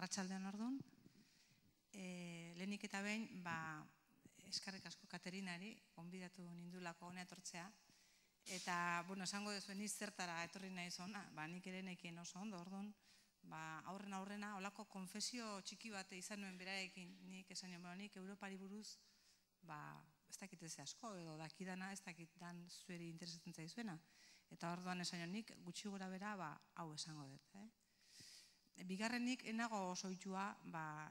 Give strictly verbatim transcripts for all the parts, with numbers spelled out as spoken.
Arratsaldean orduan, lehenik eta behin, eskerrik asko Katerinari, gonbidatu nindulako hona etortzea, eta, bueno, esango dezuen niz zertara etorri nahi zona, nik ere nekien oso ondo, orduan, aurren aurrena, holako konfesio txiki bat izan nuen berarekin, nik esan nion, nik Europari buruz, ez dakit ez asko, edo dakidana ez dakit dan zueri interesatzen zaizuena, eta orduan esan nion, nik gutxi gora bera, hau esango dut, bigarrenik, enago oso itxua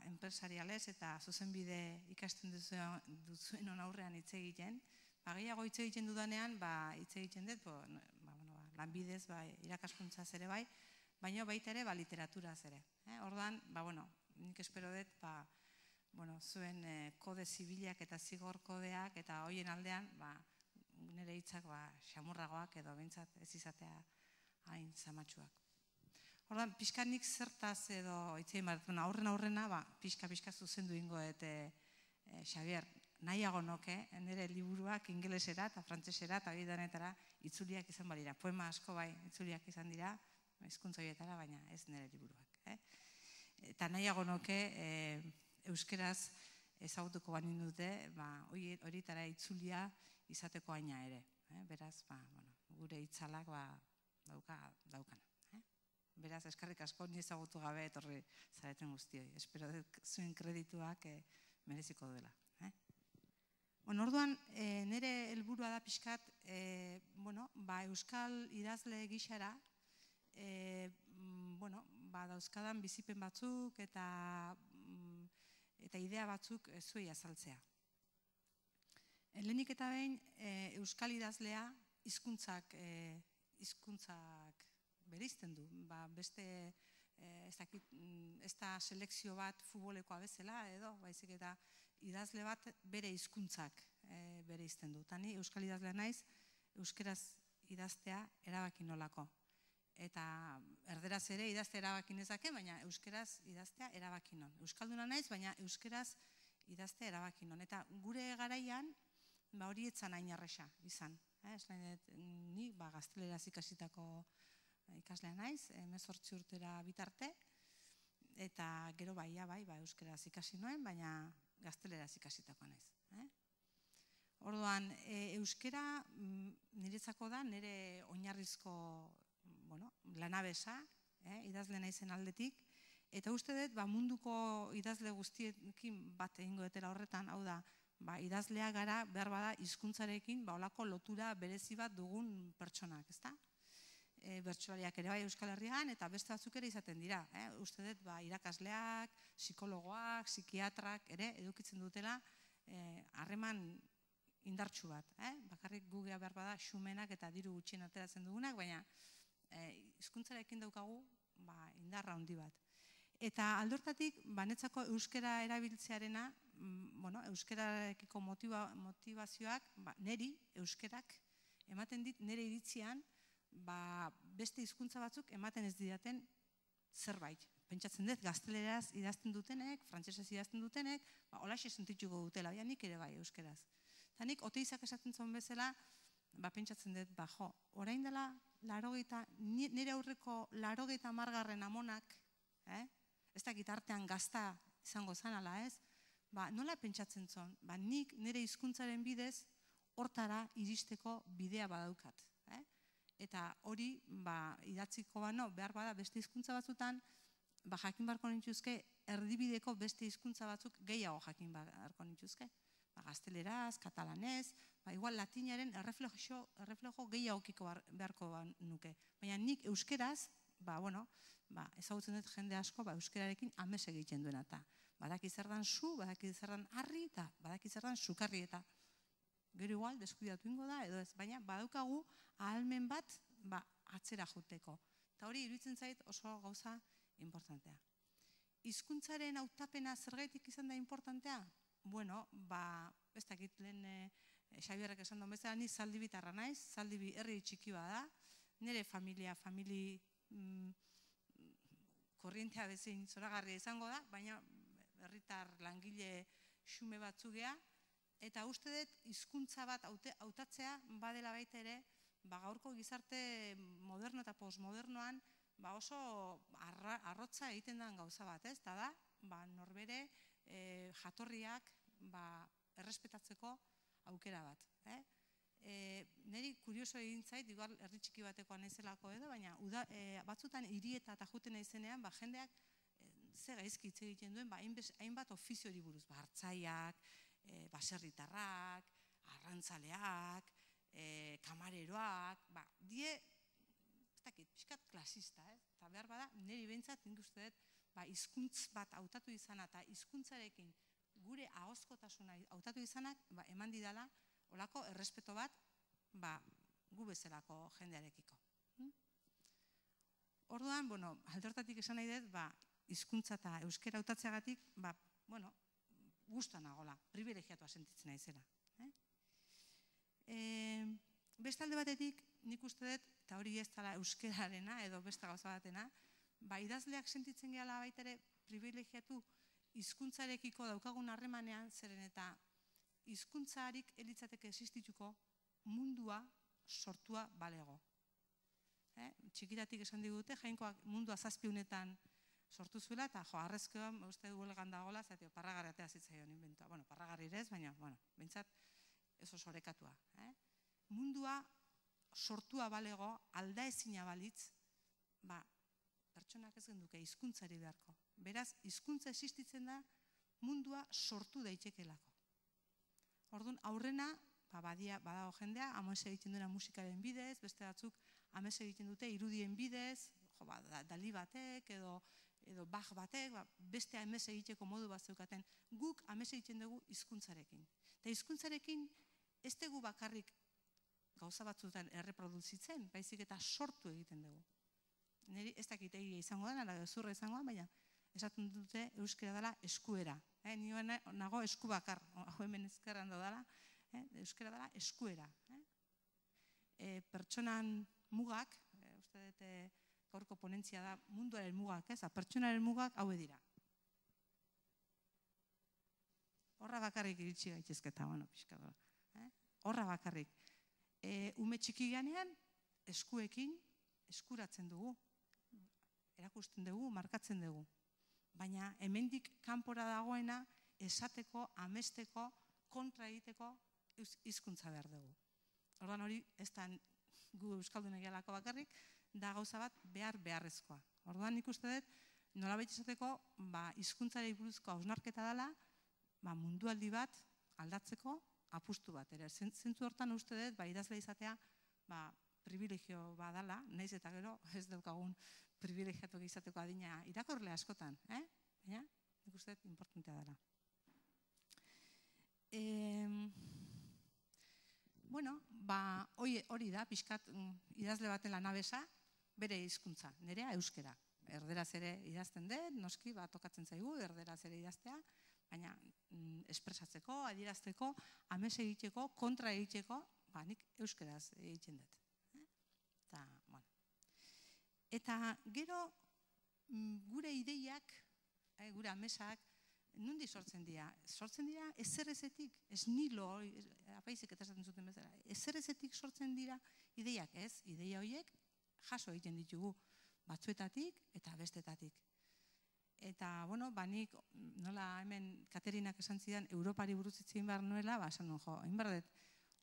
enpresarialez eta zuzenbide ikasten duzuen hon aurrean hitz egiten. Gehiago hitz egiten dudanean, hitz egiten dut, lanbidez, irakaskuntzaz ere bai, baina baita ere literaturaz ere. Orduan, nik espero dut, zuen kode zibilak eta zigor kodeak eta hoien aldean, nire hitzak xamurragoak edo bintzat ez izatea hain zamatxuak. Orduan, pixkanik zertaz edo itzein bat, aurren aurrena, pixka-pixka zuzendu ingo eta Xabier, nahiago noke, nire liburuak ingelesera eta frantzesera eta bidanetara itzuliak izan balira. Poema asko bai itzuliak izan dira, hizkuntza horietara, baina ez nire liburuak. Eta nahiago noke, euskeraz ezagutuko banin dute, horietara itzulia izateko aina ere. Beraz, gure itzalak daukana. Beraz, eskerrik asko, ni ezagutu gabe etorri zareten guztioi. Espero zuen kredituak mereziko duela. Orduan, nire helburua da pixkat, euskal idazle gixara, dauzkadan bizipen batzuk eta idea batzuk zuei azaltzea. Lehenik eta behin, euskal idazlea hizkuntzak hizkuntzak bereizten du, beste, ez da selekzio bat futbolekoa bezala edo, baizik eta idazle bat bere hizkuntzak bereizten du. Eta ni euskal idazlea naiz, euskeraz idaztea erabaki nolako. Eta erderaz ere idaztea erabaki nezake, baina euskeraz idaztea erabaki non. Euskalduna naiz, baina euskeraz idaztea erabaki non. Eta gure garaian, hori etzan hain arresa izan. Ni gazteleraz ikasitako ikaslea naiz, hemezortzi urtera bitarte, eta gero bai, euskeraz ikasi noen, baina gazteleraz ikasitako naiz. Orduan, euskera niretzako da, nire oinarrizko lanabesa, idazle naizen aldetik, eta uste dut munduko idazle guztiekin bat egingo etela horretan, hau da, idazlea gara behar bada hizkuntzarekin olako lotura berezi bat dugun pertsonak, ezta? Bertsolariak ere bai Euskal Herrian eta beste batzuk ere izaten dira. Uste dut irakasleak, psikologoak, psikiatrak ere edukitzen dutela harreman indartsu bat. Bakarrik gugea behar bada xumenak eta diru gutxien ateratzen dugunak, baina hizkuntzarekin daukagu indarra handi bat. Eta aldortatik, banetzako euskera erabiltzearena, euskerarekiko motivazioak, neri, euskerak, ematen dit nire iritzian, beste hizkuntza batzuk ematen ez didaten zerbait. Pentsatzen dut, gazteleraz idazten dutenek, frantsesez idazten dutenek, holaxe sentituko dutela, nik ere bai euskeraz. Eta nik oteizak esaten zuen bezala, pentsatzen dut, jo, orain dela, nire aurreko larogeita margarren amonak, ez dakit artean gazta izango zanala ez, nola pentsatzen zuen, nik nire hizkuntzaren bidez, hortara iristeko bidea badaukat. Eta hori idatziko bano behar bada beste hizkuntza batzutan jakin beharko nintuzke erdibideko beste hizkuntza batzuk gehiago jakin beharko nintuzke. Gazteleraz, katalanez, igual latinaren erreflejo gehiagokiko beharko nuke. Baina nik euskeraz, ezagutzen dut jende asko euskerarekin amez egiten duena eta badaki zer dan zu, badaki zer dan harri eta badaki zer dan sukarri eta gero igual, deskuidatu ingo da, edo ez, baina badaukagu ahalmen bat atzera joteko. Eta hori iruditzen zait oso gauza importantea. Hizkuntzaren hautapena zergaitik izan da importantea? Bueno, ez dakit lehen Xabierrek esan duen bezala, ni Zaldibitarra naiz, Zaldibi herri txiki bada, nire familia, famili korrientea bezin zoragarria izango da, baina herritar langile xume batzugea, eta uste dut hizkuntza bat hautatzea badela baita ere, gaurko gizarte moderno eta postmodernoan ba oso arrotza egiten den gauza bat, ez? Da da, ba norbere jatorriak errespetatzeko aukera bat. Neri kurioso egin zait, igual herri txiki batekoa naizelako edo, baina batzutan hirieta eta juten naizenean, ba jendeak ze gaizki hitz egiten duen, ba hainbat ofiziori buruz, ba artzaiak, baserritarrak, arrantzaleak, kamareroak, ba die ez dakit, pixkat klasista, ez? Eta behar bada, niri behintzat, nik uste dut, ba, hizkuntz bat hautatu izana eta hizkuntzarekin gure ahozkotasuna hautatu izanak, ba, eman didala, olako errespeto bat, ba, gu bezalako jendearekiko. Orduan, bueno, alde hortatik esan nahi dut, ba, hizkuntza eta euskera hautatzeagatik, ba, bueno, gustan nagola, privilegiatua sentitzen naizela. Beste alde batetik, nik uste dut, eta hori ez dela euskerarena edo beste gauza batena, ba, idazleak sentitzen gehala baita ere privilegiatu hizkuntzarekiko daukagun harremanean, zeren eta hizkuntzarik elitzateke existituko mundua sortua balego. Txikitatik esan digute, Jainkoak mundua zazpiunetan sortu zuela, eta jo, arrezkoa, uste du huelgan dagoela, zatio, parragarri atea zitzaion inventua. Bueno, parragarri ere ez, baina, bueno, bintzat, ez oso orekatua. Mundua sortua balego, alda ezina balitz, ba, pertsonak ez genduke hizkuntzari beharko. Beraz, hizkuntza existitzen da mundua sortu daitekelako. Orduan, aurrena, badago jendea, amese egiten duena musikaren bidez, beste batzuk amese egiten dute irudien bidez, dali batek edo bach batek, beste amese egiteko modu bat zeukaten. Guk amese egiten dugu hizkuntzarekin. Eta hizkuntzarekin ez dugu bakarrik gauza batzutan erreproduzitzen, baizik eta sortu egiten dugu. Niri ez dakit egia izango da, ala gezurra izango da, baina esaten dute euskera dela eskuera. Ni nago esku bakar, hau hemen ezkerran dela, euskera dela eskuera. Pertsonan mugak, uste dut gaurko ponentzia da munduaren mugak, pertsonaren mugak haue dira. Horra bakarrik iritsi gaitezketa, bueno, pixka dola. Horra bakarrik. Ume txiki ganean, eskuekin eskuratzen dugu, erakusten dugu, markatzen dugu. Baina hemendik kanpora dagoena esateko, amesteko, kontra egiteko hizkuntza behar dugu. Orduan hori ez da gu euskaldun egialako bakarrik, da gauza bat behar beharrezkoa. Orduan nik uste dut, nolabait esateko, hizkuntzari buruzko hausnarketa dela, mundualdi bat aldatzeko apustu bat. Zentzu hortan uste dut, idazle izatea privilegio badala, nahiz eta gero ez daukagun privilegiatu izateko adina irakurle askotan. Baina, nik uste dut, importantea dela. Bueno, hori da, pixkat idazle baten lanabesa, bere hizkuntza, nerea euskera. Erderaz ere idazten dut, noski, tokatzen zaigu, erderaz ere idaztea, baina espresatzeko, adierazteko, amese egiteko, kontra egiteko, nik euskeraz egiten dut. Eta gero gure ideiak, gure amesak, nundi sortzen dira? Sortzen dira ezerezetik, ez nilo, apaizik eta esaten zuten bezala, ezerezetik sortzen dira ideiak, ez? Ideia horiek jaso egiten ditugu batzuetatik eta bestetatik. Eta, bueno, banik, nola hemen Katerinak esan zidan, Europari buruz hitz egin behar nuela, ba, esan nuen, jo, egin behar dut,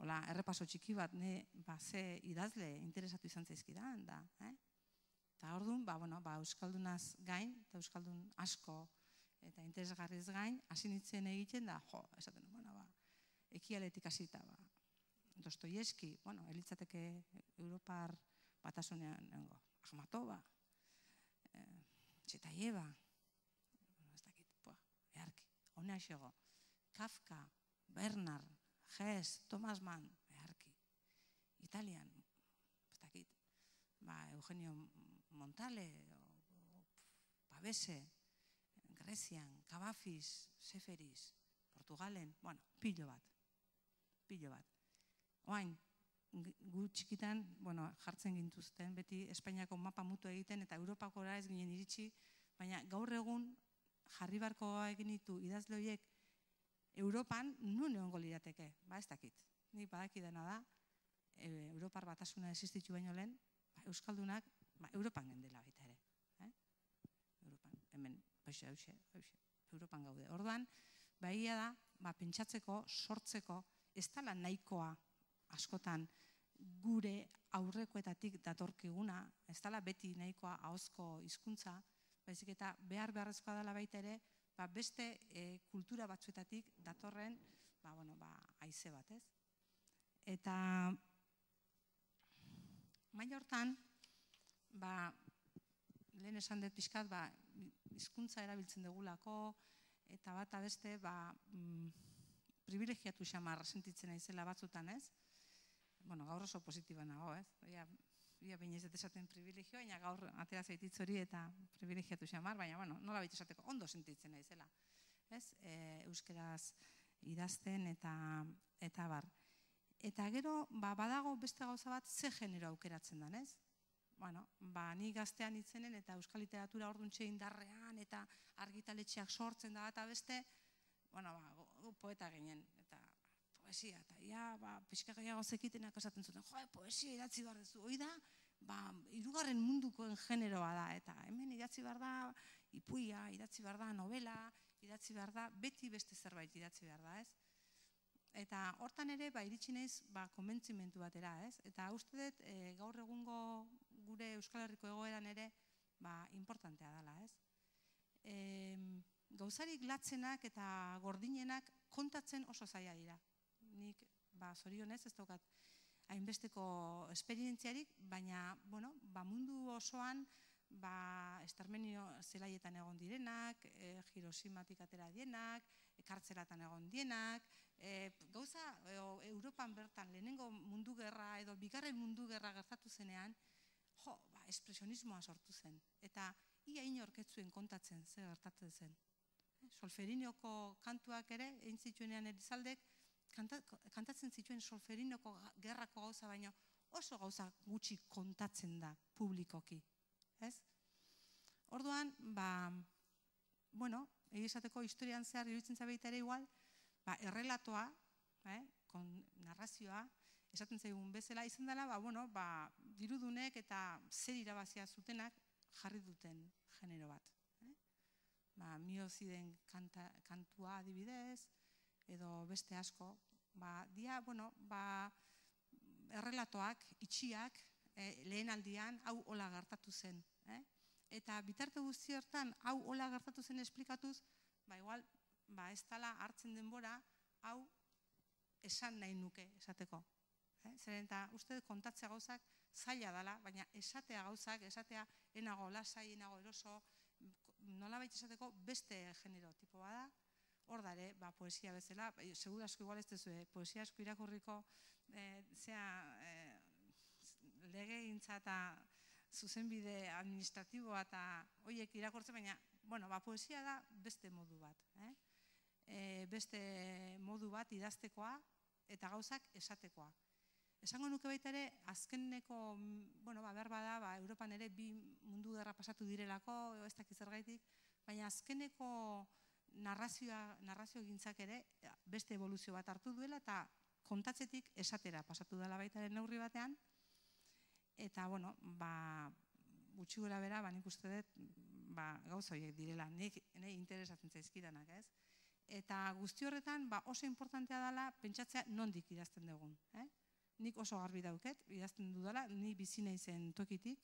hola, errepaso txiki bat, ne, ba, ze idazle interesatu izan zaizkidan, da, eh? Eta orduan, ba, bueno, ba, euskaldunaz gain, eta euskaldun asko, eta interesgarriz gain, hasi nintzen egiten da, jo, esaten, bueno, ba, ekialetik hasita, ba, Dostoievski, bueno, elitzateke Europar batasunean, nengo, Akhmatova, Txetaieba, ez dakit, poa, beharki, honea xego, Kafka, Bernard, Hess, Thomas Mann, beharki, Italian, ez dakit, ba, Eugenio Montale, Pavese, Grezian, Cavafis, Seferis, Portugalen, bueno, pilo bat, pilo bat. Oain, gu txikitan, bueno, jartzen gintuzten, beti Espainiako mapa mutu egiten, eta Europakora ez ginen iritsi, baina gaur egun jarri barko egin ditu idazle horiek Europan nun egongo lirateke, ba ez dakit. Nik badaki dena da, Europar batasuna existitu baino lehen, euskaldunak Europan gendela baita ere. Europan, hemen, hauxe, hauxe, Europan gaude. Orduan, baia da, pentsatzeko, sortzeko, ez dela nahikoa askotan gure aurrekoetatik datorkiguna, ez dela beti nahikoa ahozko hizkuntza, baizik eta behar beharrezkoa dela baita ere, beste kultura batzuetatik datorren haize bat, ez? Eta maila hortan, lehen esan dut pixkat, hizkuntza erabiltzen dugulako, eta bat abeste, privilegiatu xamar sentitzen naizela batzutan, ez? Bueno, gaur oso positiba nago, ez? Ia baina ez dut esaten privilegio, baina gaur atera zaititz hori eta privilegiatu xamar, baina, bueno, nola baita esateko, ondo sentitzen naizela, ez? Euskeraz idazten eta bar. Eta gero, badago beste gauza bat, ze genero aukeratzen den, ez? Bueno, ni gaztean itzenen eta euskal literatura orduntxe indarrean eta argitaletxeak sortzen da eta beste, bueno, poeta ginen, eta poesia, eta ia, pixka gehiago zekitenak esaten zuten, jo, poesia idatzi behar duzu, hoi da, hirugarren mundukoen generoa da, eta hemen idatzi behar da, ipuia, idatzi behar da, novela, idatzi behar da, beti beste zerbait idatzi behar da, ez? Eta hortan ere, iritsi naiz, konbentzimentu batera, ez? Eta uste dut, gaur egungo gure Euskal Herriko egoeran ere, importantea dela, ez? Gauzarik latzenak eta gordinenak kontatzen oso zaila dira. Nik, zorionez, ez daukat hainbesteko esperientziarik, baina, bueno, mundu osoan, estermenio zelaietan egon direnak, Hiroshimatik atera dienak, kartzelatan egon dienak, gauza, Europan bertan lehenengo mundu gerra edo bigarren mundu gerra gertatu zenean, jo, espresionismoa sortu zen. Eta ia inorketzuen kontatzen ze gertatzen zen. Solferinioko kantuak ere, egin zituenean Elizaldek, kantatzen zituen Solferinoko gerrako gauza, baino oso gauza gutxi kontatzen da publikoki. Orduan, bueno, egizateko historian zehar iruditzen zabeita ere igual, errelatoa, narrazioa, esaten zaigun bezala, izan dela, dirudunek eta zer irabazia zutenak jarri duten genero bat. Mioziden kantua adibidez, edo beste asko, dia, bueno, errelatoak, itxiak, lehen aldian, hau hola gertatu zen. Eta bitarte guzti hortan, hau hola gertatu zen esplikatuz, ba, igual, ez dela hartzen denbora, hau esan nahi nuke esateko. Zeren eta uste kontatzea gauzak zaila dela, baina esatea gauzak, esatea enago lasai, enago eroso, nola baita esateko beste genero tipo bada, hor dare, poesia bezala, segur asko igual ez duzu, poesia asko irakurriko, zea, legegintza eta zuzenbide administratiboa eta horiek irakurtzen, baina, bueno, poesia da beste modu bat. Beste modu bat idaztekoa eta gauzak esatekoa. Esango nuke baita ere, azkeneko, bueno, behar bada, Europan ere bi mundu gerra pasatu direlako, ez dakiz zergaitik, baina azkeneko narrazio gintzak ere beste evoluzio bat hartu duela eta kontatzetik esatera pasatu dela baita ere neurri batean, eta, bueno, gutxi gora bera, nik uste dut, gauza horiek direla, nik interesatzen zaizkidanak, ez? Eta guzti horretan, oso importantea dela pentsatzea nondik idazten dugun. Nik oso garbi dauket, idazten dudala, ni bizi naizen tokitik,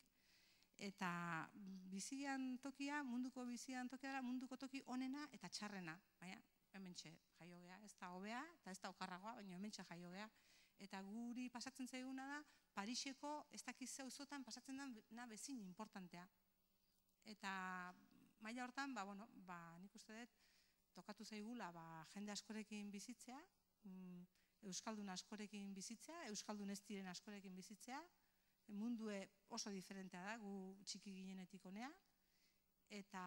eta bizian tokia, munduko bizian tokia dela, munduko toki onena eta txarrena. Baina, hementxe jaio gea, ez da hobea, eta ez da okarragoa, baina hementxe jaio gea. Eta guri pasatzen zaiguna da, Pariseko ez dakiz zeuzotan pasatzen dena bezin importantea. Eta maila hortan, nik uste dut, tokatu zaigula jende askorekin bizitzea, euskaldun askorekin bizitzea, euskaldun ez diren askorekin bizitzea, mundue oso diferentea da, gu txiki ginenetik honea, eta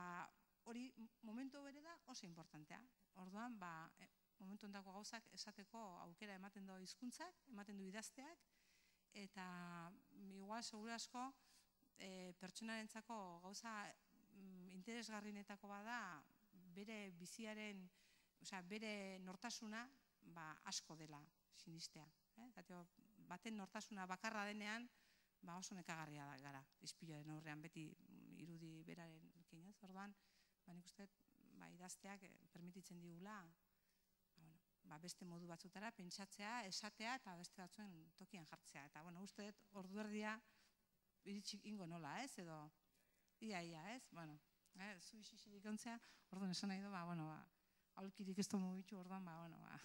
hori momentu bere da oso importantea. Orduan, momentu ondako gauzak esateko aukera ematen du hizkuntzak, ematen du idazteak, eta igual, segura asko, pertsonarentzako gauza interesgarrinetako bada, bere biziaren, bere nortasuna asko dela sinistea. Baten nortasuna bakarra denean, ba oso nekagarria da gara, ispiluaren aurrean beti irudi beraren kinez, orduan, ba nik uste, ba idazteak permititzen digula, ba, bueno, ba, beste modu batzutara, pentsatzea, esatea eta beste batzuen tokian jartzea. Eta, bueno, uste dut, ordu erdia iritsik ingo nola, ez, edo, ia, ia, ez, bueno, eh, zu isixilik ontzea, orduan esan nahi du, ba, bueno, ba, aulkirik ez du mugitu, orduan, ba, bueno, ba,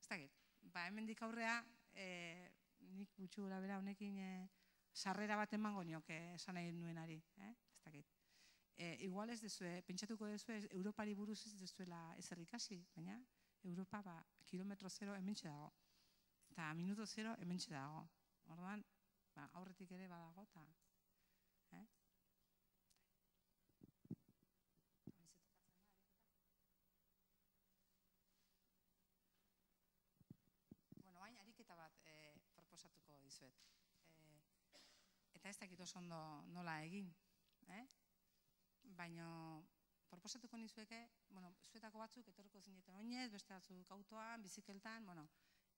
ez dakit, ba, hemendik aurrea, eh, nik gutxi gura bera honekin eh, sarrera bat emango nioke esan nahi nuenari, eh, ez dakit. E, igual ez dezue, pentsatuko dezue, Europari buruz ez dezuela ezer ikasi, baina Europa ba, kilometro zero hementxe dago, eta minuto zero hementxe dago. Orduan, ba, aurretik ere badago, eta... Eh? Bueno, hain ariketa bat eh, proposatuko dizuet. Eh, eta ez dakit oso ondo nola egin, eh? Baina proposatuko nizueke, bueno, zuetako batzuk etorriko zineten oinez, beste batzuk autoan, bizikeltan, bueno,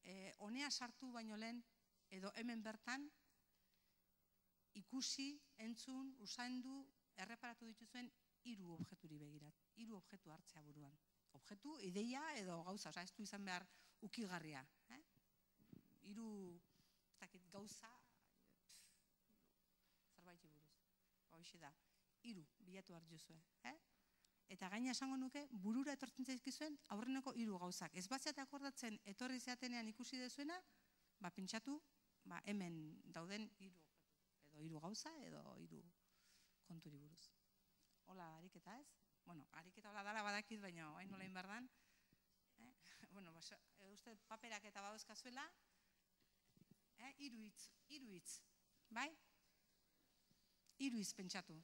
eh, honea sartu baino lehen, edo hemen bertan, ikusi, entzun, usaindu, erreparatu dituzuen hiru objeturi begirat, hiru objektu hartzea buruan. Objektu, ideia edo gauza, oza, ez du izan behar ukigarria. Eh? Hiru, ez dakit, gauza, zerbait buruz, hoxe da. Hiru bilatu hartu zuen, eh? Eta gaina esango nuke burura etortzen zaizkizuen aurreneko hiru gauzak. Ez batzeate akordatzen etorri zeatenean ikusi dezuena, ba pentsatu, ba hemen dauden hiru edo hiru gauza edo hiru konturi buruz. Hola, ariketa, ez? Bueno, ariketa hola dala badakit, baina hain nola inbardan. Eh? Bueno, ba, uste paperak eta badauzkazuela, eh? Hiru hitz, hiru hitz, bai? Hiru hitz pentsatu.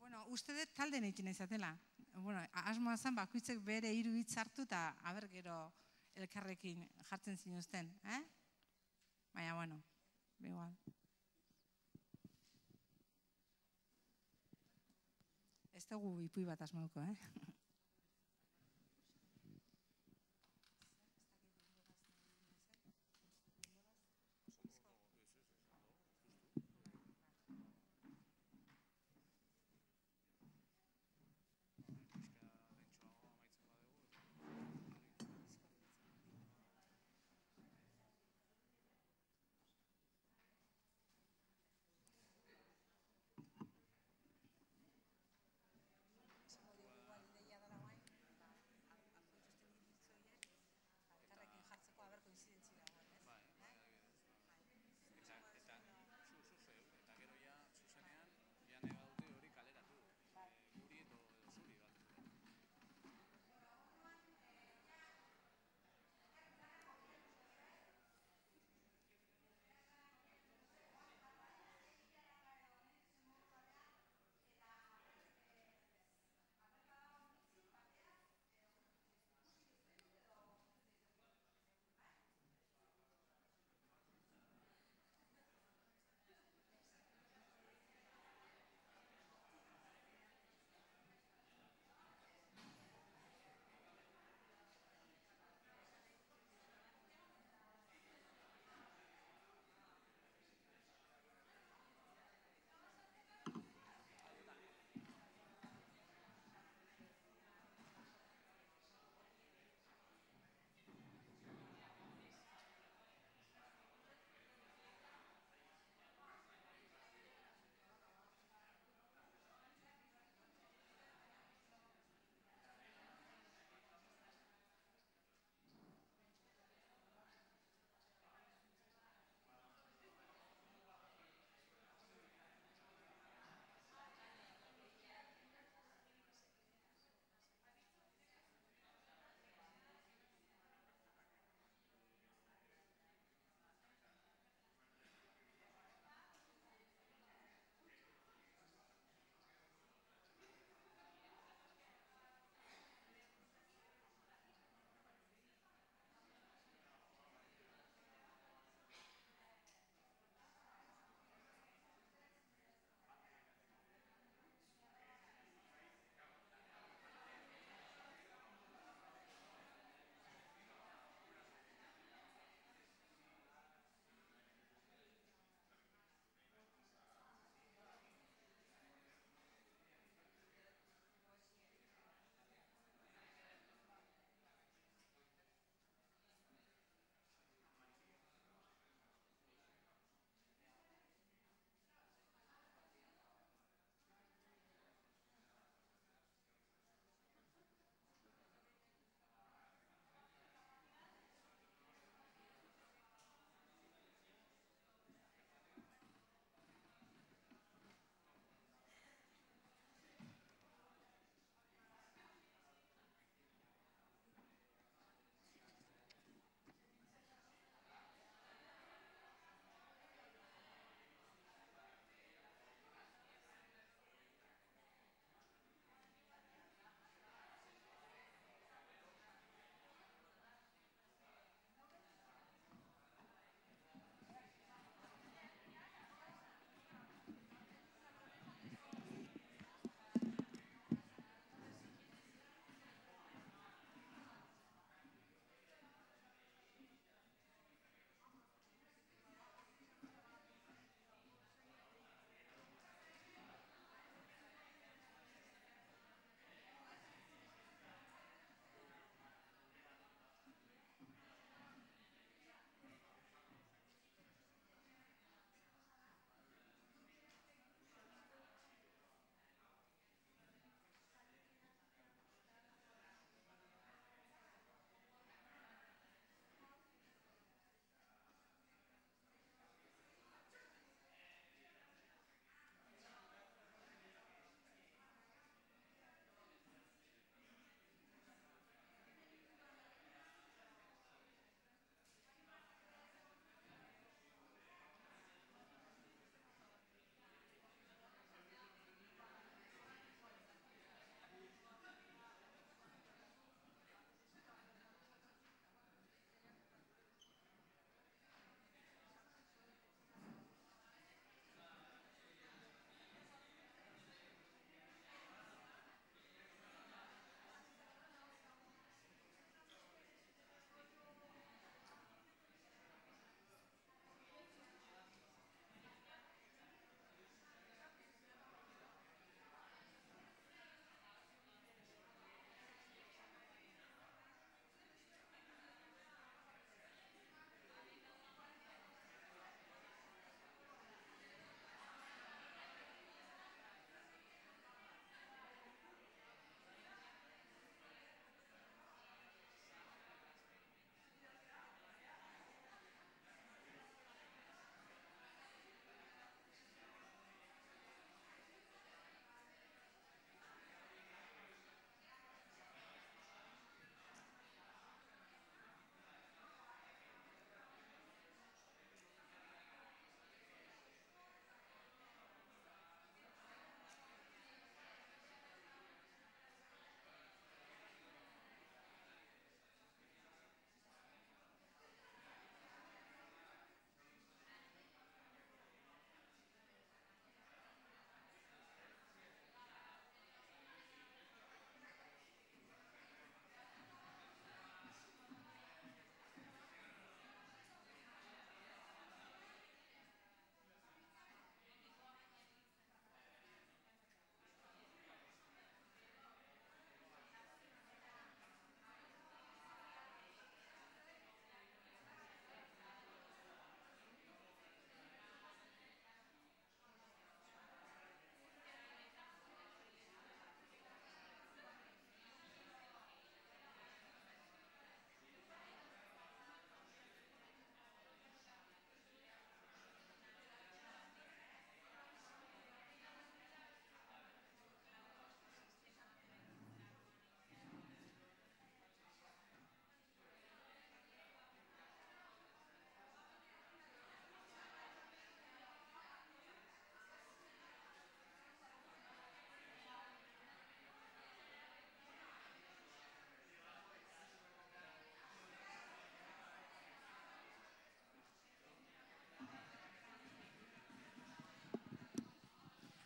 Bueno, uste dut talde nekin izatela. Bueno, asmoa zen bakoitzek bere hiru hitz hartu eta aber gero elkarrekin jartzen zinuzten, eh? Baina, bueno, igual. Ez dugu ipui bat asmauko, eh?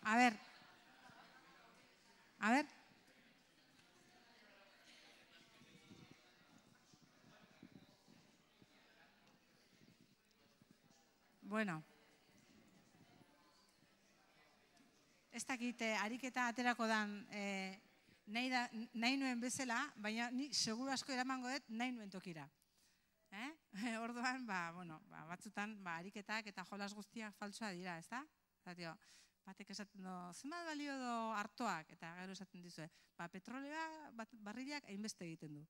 A ber, a ber. Bueno. Ez dakit, ariketa aterako dan nahi nuen bezala, baina ni seguru asko eramango dut nahi nuen tokira. Orduan, batzutan, ariketak eta jolas guztiak faltsoa dira, ez da? Batek esaten du, zenbat balio do hartoak, eta gero esaten dizue, petrolea barrilak hainbeste egiten du.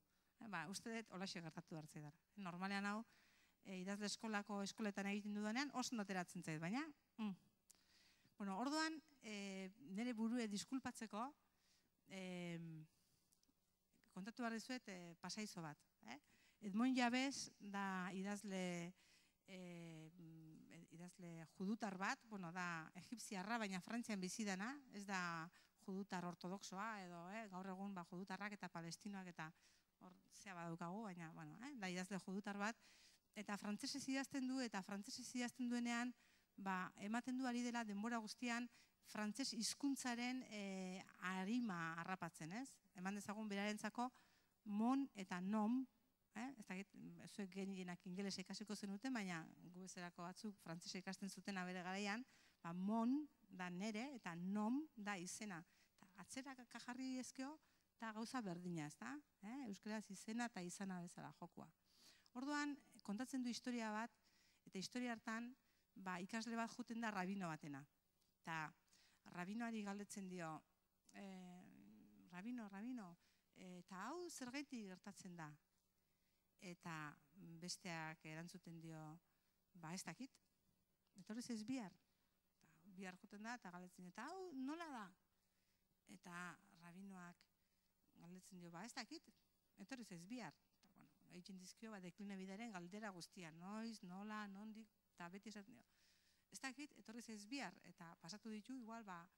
Uste dut, holaxe gertatu hartzei dara. Normalean hau, idazle eskolako eskoletan egiten dudanean, oso noteratzen zait, baina... Bueno, orduan, nire burue diskulpatzeko, kontatu behar dizuet pasaizo bat. Edmond Jabez da idazle judutar bat, bueno, da egipziarra, baina Frantzian bizi dana, ez da judutar ortodoxoa, edo gaur egun judutarrak eta palestinoak eta hor zea badaukagu, baina, bueno, da idazle judutar bat, eta frantzesez idazten du, eta frantzesez idazten duenean, ba, ematen du ari dela denbora guztian frantses hizkuntzaren arima harrapatzen, ez? Eman dezagun berarentzako mon eta nom, ez dakit, zuek gehienak ingelesa ikasiko zenuten, baina gu bezalako batzuk frantsesa ikasten zuten bere garaian, ba, mon da nere eta nom da izena. Atzera kajarri ezkeo eta gauza berdina, ez da? Euskaraz izena eta izana bezala jokua. Orduan, kontatzen du historia bat, eta historia hartan, ikasle bat juten da rabino batena. Eta rabinoari galdetzen dio, rabino, rabino, eta hau zergaitik gertatzen da? Eta besteak erantzuten dio, ba ez dakit, etorriz ez bihar. Bihar juten da eta galdetzen dio, eta hau nola da? Eta rabinoak galdetzen dio, ba ez dakit, etorriz ez bihar. Egiten dizkio, dekline bidaren galdera guztia, noiz, nola, nondik, eta beti esaten dio. Ez dakit, etorriz ez bihar, eta pasatu ditu, igual, ba,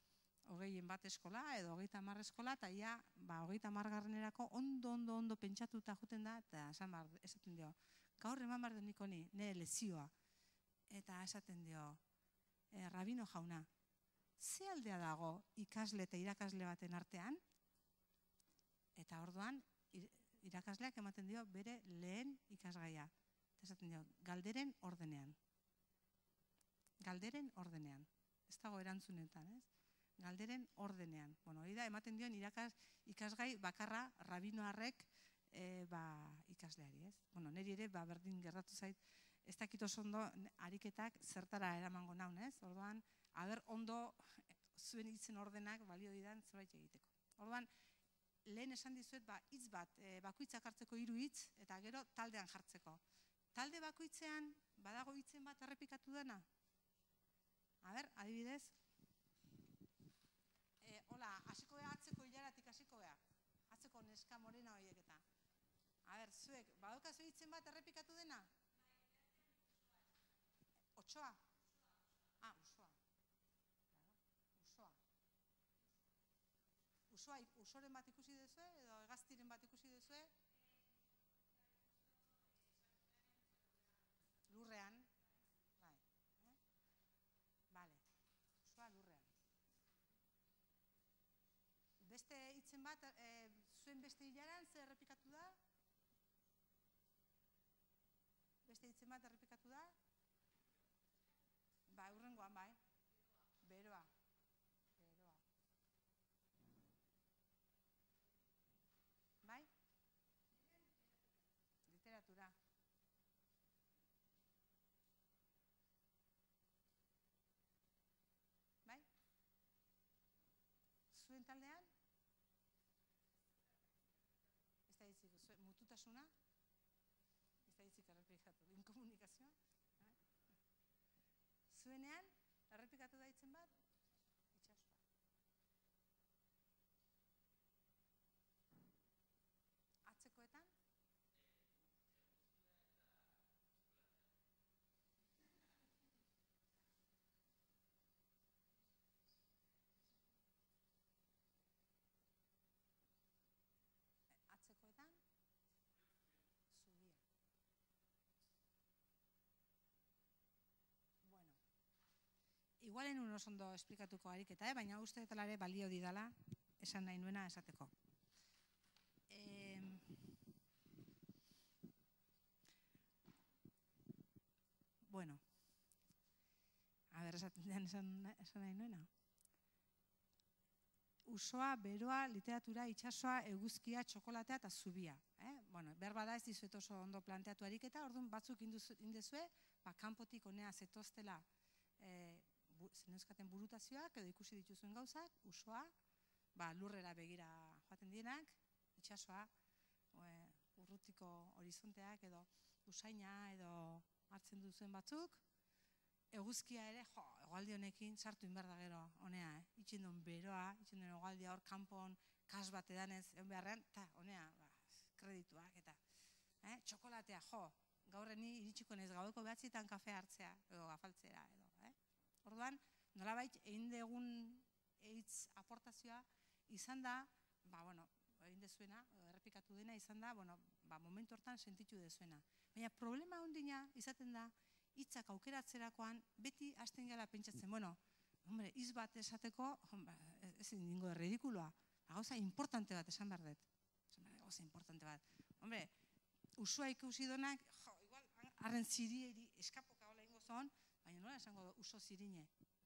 hogeien bat eskola, edo hogeita hamar eskola, eta ia, ba, hogeita hamargarrenerako ondo, ondo, ondo pentsatuta juten da, eta esaten dio, gaur eman behar denik honi, nire lezioa. Eta esaten dio, rabino jauna, ze aldea dago ikasle eta irakasle baten artean? Eta orduan, irakasleak ematen dio bere lehen ikasgaia. Esaten dio, galderen ordenean. Galderen ordenean. Ez dago erantzunetan, ez? Galderen ordenean. Bueno, hori da, ematen dio ikasgai bakarra rabinoarrek ikasleari, ez? Bueno, niri ere, berdin gertatu zait, ez dakit oso ondo ariketak zertara eramango naun, ez? Orduan, aber ondo zuen hitzen ordenak balio didan zerbait egiteko. Orduan, lehen esan dizuet, hitz bat, bakoitzak hartzeko hiru hitz, eta gero taldean jartzeko. Talde bakoitzean, badago hitzen bat errepikatu dena? A ber, adibidez. Hola, hasiko ea atzeko hilaratik hasiko ea. Atzeko neska morena horiek eta. A ber, zuek, badaukazu hitzen bat errepikatu dena? Otsoa? Ah, usoa. Usoa. Usoa, usoren bat ikusi dezue, edo hegaztiren bat ikusi dezue? Lurrean. Bai. Bale. Usoa lurrean. Beste hitzen bat, zuen beste hilaran, zer errepikatu da? Beste hitzen bat errepikatu da? Ba, hurrengoan, bai. Beroa. Bai? Literatura. Bai? Zuen taldean? Ez da hitzik, mututasuna? Ez da hitzik errepikatu. Inkomunikazioa? Zuenean, errepikatu da hitzen bat? Atzekoetan? Atzekoetan? Zubia. Bueno. igualen un oso ondo esplikatuko ariketa, eh? Baina uste dutela ere balio didala, esan nahi nuena esateko. Eh, bueno, a ber, esaten den esan, esan nahi nuena. Usoa, beroa, literatura, itsasoa, eguzkia, txokolatea eta zubia. Eh? Bueno, behar bada ez dizuet oso ondo planteatu ariketa, orduan batzuk indezue, ba, kanpotik honea zetoztela eh, bu, zeneuskaten burutazioak edo ikusi dituzuen gauzak, usoa, ba, lurrera begira joaten dienak, itsasoa, e, urrutiko horizonteak edo usaina edo hartzen duzuen batzuk, eguzkia ere, jo, egualdi honekin sartu inbar da gero, honea, eh? Itxin duen beroa, itxin duen egualdia hor kanpon, kas bat edanez, egon beharrean, eta honea, ba, kredituak eta, eh? Txokolatea, jo, gaurreni iritsiko naiz gaueko behatzietan kafe hartzea, edo afaltzera, edo, eh? Orduan, nolabait, egin degun eitz aportazioa, izan da, ba, bueno, egin dezuena, errepikatu dena, izan da, bueno, ba, momentu hortan sentitu dezuena. Baina problema ondina izaten da, hitzak aukeratzerakoan beti hasten gala pentsatzen, bueno, hombre, hitz bat esateko, ezin dingo ridikuloa, gauza importante bat esan behar dut. Gauza importante bat. Hombre, usua ikusi donak, jo, igual, arren zirieri eskapoka hola ingo zon, baina nola esango uso zirine?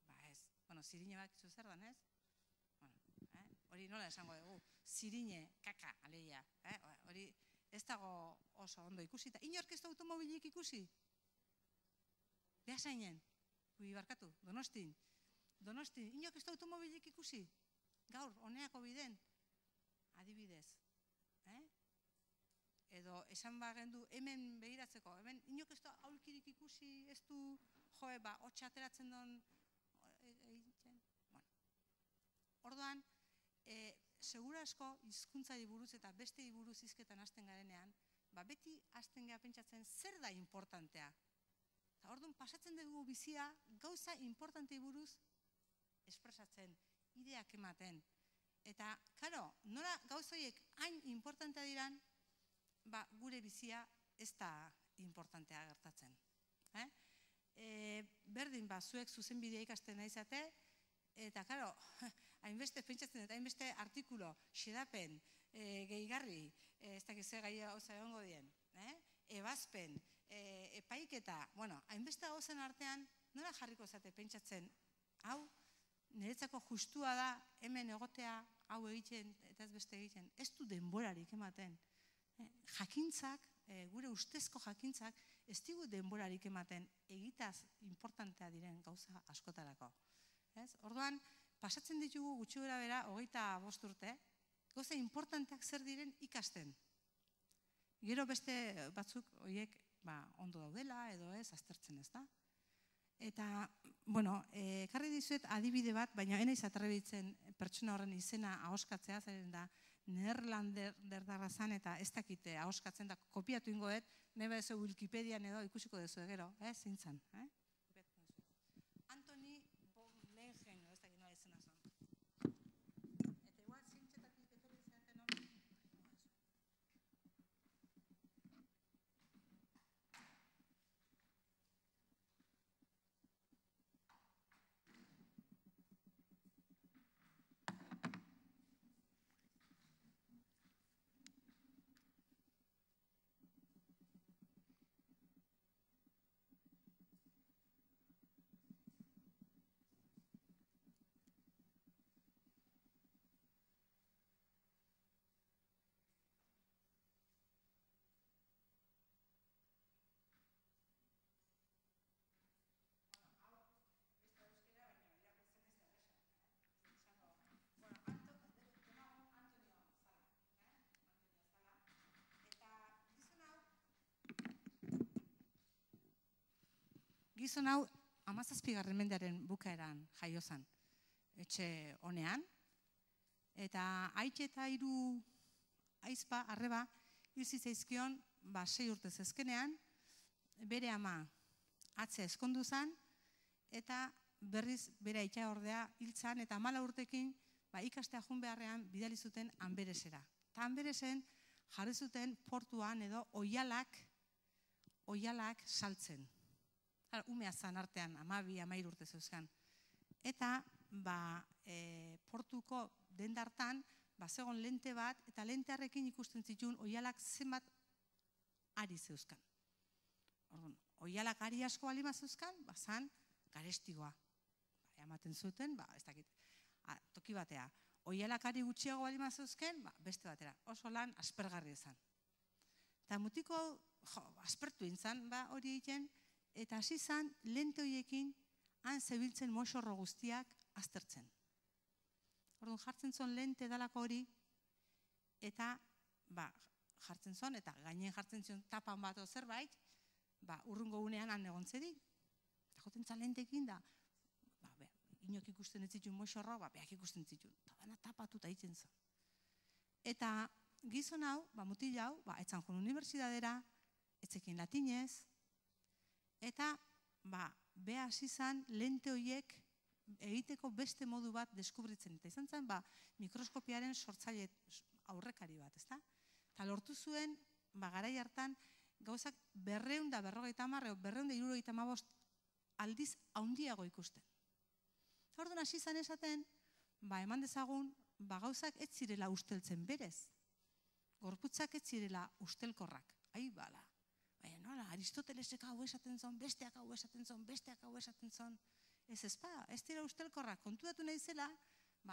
Ba ez, bueno, zirine bat izu zer dan ez? Bueno, eh? Hori nola esango dugu, zirine, kaka, aleia, eh? Hori ez dago oso ondo ikusi, eta inork ez da automobilik ikusi? Behasainen, hui barkatu, Donostin. Donostin, inok ez da automobilik ikusi? Gaur, honeako biden? Adibidez. Eh? Edo esan bagendu hemen begiratzeko, hemen inok ez da aulkirik ikusi, ez du, joe, ba, hotxa ateratzen don egiten. Bueno. Orduan, e, segura asko hizkuntzari buruz eta beste buruz hizketan hasten garenean, ba, beti hasten gara pentsatzen zer da importantea. Orduan, pasatzen dugu bizia gauza importantei buruz espresatzen, ideak ematen. Eta, karo, nola gauzoiek hain importantea diran, ba, gure bizia ez da importantea gertatzen. Eh? E, berdin, ba, zuek zuzenbidea ikasten naizate, eta, karo, hainbeste pentsatzen, eta hainbeste artikulo, xedapen, e, gehigarri, e, ez dakiz gai gauza egongo dien, eh? Ebazpen, e, epaiketa, bueno, hainbeste gauzen artean, nola jarriko zate pentsatzen, hau, niretzako justua da, hemen egotea, hau egiten, eta ez beste egiten, ez du denborarik ematen. Eh, jakintzak, e, gure ustezko jakintzak, ez digu denborarik ematen, egitaz importantea diren gauza askotarako. Ez? Orduan, pasatzen ditugu gutxi gora bera, hogeita bost urte, gauza importanteak zer diren ikasten. Gero beste batzuk horiek ba, ondo daudela edo ez, aztertzen ez da. Eta, bueno, ekarri dizuet adibide bat, baina enaiz atrebitzen pertsona horren izena ahoskatzea, zeren da neerlanderdarra zan eta ez dakite ahoskatzen da kopiatu ingoet, nebe ez Wikipedian edo ikusiko dezu egero, eh, zintzan. Eh? Antoni Bomlengen, ez dakit nola izena zan. Eta igual zintzetatik etorri zenten hori. Gizon hau hamazazpigarren mendearen bukaeran jaio zen, etxe honean, eta aitze eta hiru aizpa, arreba, hil zitzaizkion, ba, sei urtez ezkenean, bere ama atzea eskondu zen, eta berriz bere aitza ordea hil zen, eta hamala urtekin ba, ikastea joan beharrean bidali zuten Anberesera. Eta Anberesen jarri zuten portuan edo oihalak, oihalak saltzen. Umea zan artean, amabi, amair urte zeuzkan. eta portuko dendartan zegoen lente bat, eta lentearrekin ikusten zituen oihalak zenbat ari zeuzkan. Oihalak ari asko balima zeuzkan, bazan garestigoa. Ematen zuten, ez dakit, toki batea. Oihalak ari gutxiago balima zeuzken, beste batera. Oso lan aspergarri ezan. Eta mutiko aspertu intzan hori egiten, eta hasi zan lente horiekin han zebiltzen moxorro guztiak aztertzen. Orduan jartzen zuen lente dalako hori, eta jartzen zuen, eta gainen jartzen zuen tapan bat o zerbait, urrungo unean han egontzedik. Eta joten zan lentekin da, inok ikusten ez zituen moxorro, behak ikusten zituen. Eta dana tapatuta egiten zuen. Eta gizon hau, mutil hau, etzan joan unibertsidadera, etzekin latinez, eta beha hasi zan lente horiek egiteko beste modu bat deskubritzen. Eta izan zen, mikroskopiaren sortzaile aurrekari bat, ezta? Eta lortu zuen, garai hartan, gauzak berreun da berrogeita hamar, berreun da hirurogeita hamabost aldiz haundiago ikusten. Orduan hasi zan esaten, eman dezagun, gauzak ez zirela usteltzen berez. Gorputzak ez zirela ustelkorrak. Ai, bala. Baina nola, Aristotelesek hau esaten zon, besteak hau esaten zon, besteak hau esaten zon. Ez ezpa, ez dira ustelkorrak. Kontuatu nahi zela,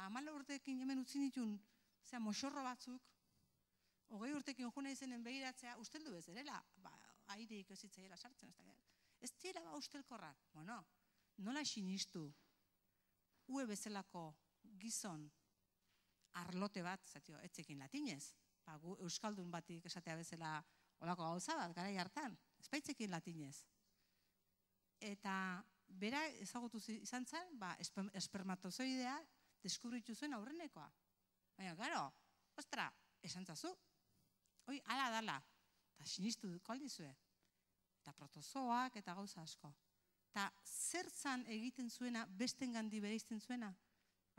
hamala urteekin hemen utzi nituen, zera, moxorro batzuk, hogei urteekin jo nahi zenen begiratzea, usteldu ez derela, aireik ez zitzaiela sartzen. Ez dira ba ustelkorrak. Bueno, nola sinistu, ue bezalako gizon arlote bat, etzekin latinez, euskaldun batik esatea bezala olako gauza bat, garai hartan, espaitzekin latinez. Eta bera ezagutu izan zen, espermatozoidea deskubritu zuen aurrenekoa. Baina, gero, ostra, esan zazu, hoi, ala dala, eta sinistu duko aldizue. Eta protozoak eta gauza asko. Eta zer zan egiten zuena, besten gandi bere izten zuena?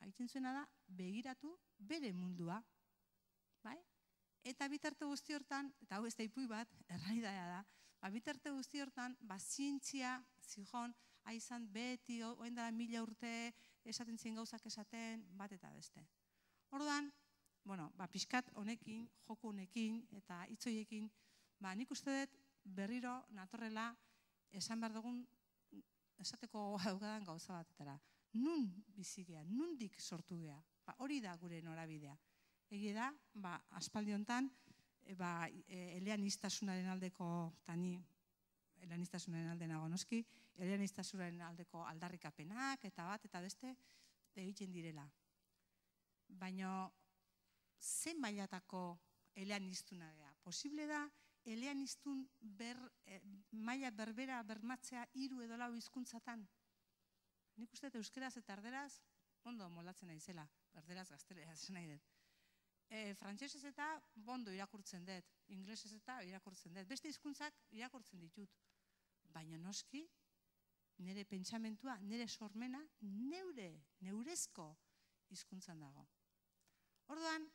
Egiten zuena da, begiratu bere mundua. Eta bitarte guzti hortan, eta hau ez da ipui bat, erraidaia da, bitarte guzti hortan, zientzia, zijon, haizan beti, oen dara mila urte, esaten ziren gauzak esaten, bat eta beste. Orduan, bueno, pixkat honekin, joko honekin, eta hitzoiekin, nik uste dut berriro natorrela esan behar dugun esateko haugadan gauza batetara. Nun bizigea, nundik sortu gea, hori da gure norabidea. Egi da, aspaldi honetan, eleanistasunaren aldeko, eta ni eleanistasunaren alde nago noski, eleanistasunaren aldeko aldarrikapenak, eta bat, eta beste, egiten direla. Baina, zen mailatako eleanistuna gea? Posible da, eleanistun maila berbera bermatzea hiru edo lau hizkuntzatan? Nik uste euskeraz eta erderaz, ondo moldatzen naizela, erderaz gazteleraz nahi dut. Frantsesez eta bondo irakurtzen dut, inglesez eta irakurtzen dut, beste hizkuntzak irakurtzen ditut. Baina noski, nire pentsamentua, nire sormena, neure, neurezko hizkuntzan dago. Orduan,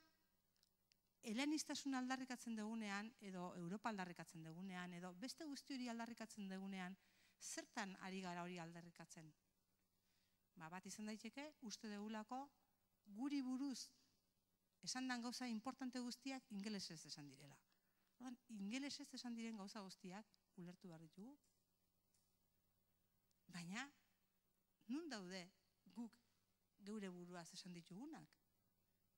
eleanistasun aldarrikatzen dugunean, edo Europa aldarrikatzen dugunean, edo beste guzti hori aldarrikatzen dugunean, zertan ari gara hori aldarrikatzen? Bat izan daiteke, uste dugulako, guri buruz, esan dan gauza importante guztiak ingelesez esan direla. Ingelesez esan diren gauza guztiak ulertu behar ditugu. Baina, nun daude guk geure buruaz esan ditugunak?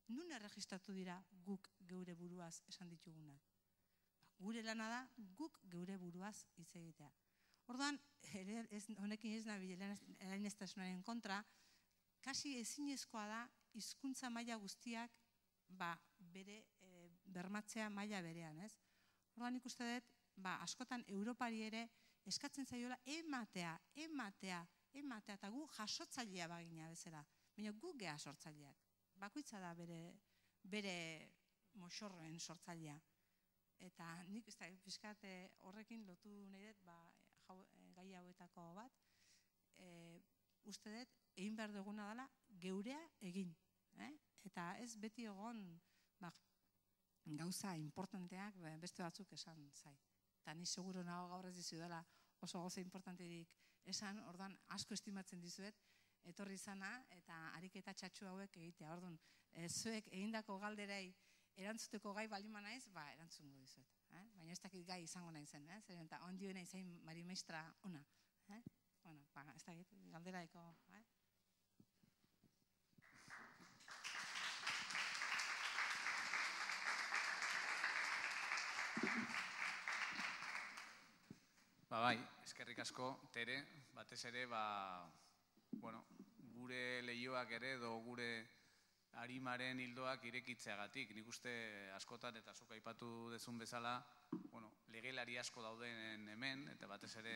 Nun erregistratu dira guk geure buruaz esan ditugunak? Gure lana da guk geure buruaz hitz egitea. Orduan, honekin ez nabil eleaniztasunaren kontra, kasi ezinezkoa da hizkuntza maila guztiak bere bermatzea maila berean, ez? Orduan ikuste dut, askotan Europari ere eskatzen zaiola ematea, ematea, ematea, eta gu jasotzailea bagina bezala, baina gu geha sortzaileak. Bakoitza da bere moxorroen sortzailea. Eta nik pixkat horrekin lotu nahi dut gai hauetako bat, uste dut, egin behar duguna dela geurea egin. Eta ez beti egon gauza importanteak beste batzuk esan zai. Eta ni seguro nago gaur ez dizu dela oso gauza importanterik esan, ordan asko estimatzen dizuet, etorri zana eta ariketa txatxu hauek egitea. Orduan, zuek egindako galderei erantzuteko gai balima naiz, ba, erantzungo dizuet. Baina ez dakit gai izango nahi zen, zer eta ondio nahi zain marimaistra ona. Bueno, ba, ez dakit, galderaiko. Ba bai, eskerrik asko, Tere, batez ere, ba, bueno, gure lehioak ere edo gure arimaren hildoak irekitzeagatik. Nik uste askotan eta zuk aipatu dezun bezala, bueno, legelari asko dauden hemen, eta batez ere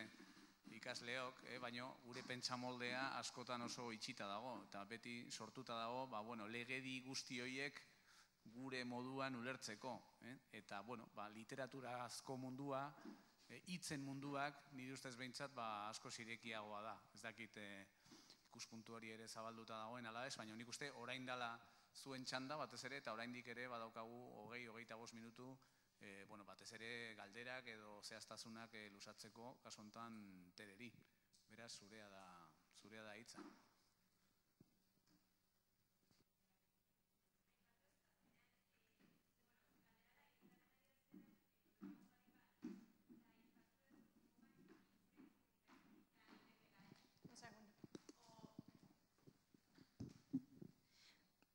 ikasleok, eh, baino gure pentsamoldea askotan oso itxita dago, eta beti sortuta dago, ba, bueno, legedi guzti horiek gure moduan ulertzeko, eh? Eta, bueno, ba, literaturazko mundua, hitzen munduak, nire ustez behintzat, ba, asko zirekiagoa da. Ez dakit ikuspuntu hori ere zabalduta dagoen ala ez, baina nik uste orain dela zuen txanda batez ere, eta oraindik ere badaukagu hogei, hogeita bost minutu, bueno, batez ere galderak edo zehaztasunak luzatzeko kasu honetan Tereri. Beraz, zurea da, zurea da hitza.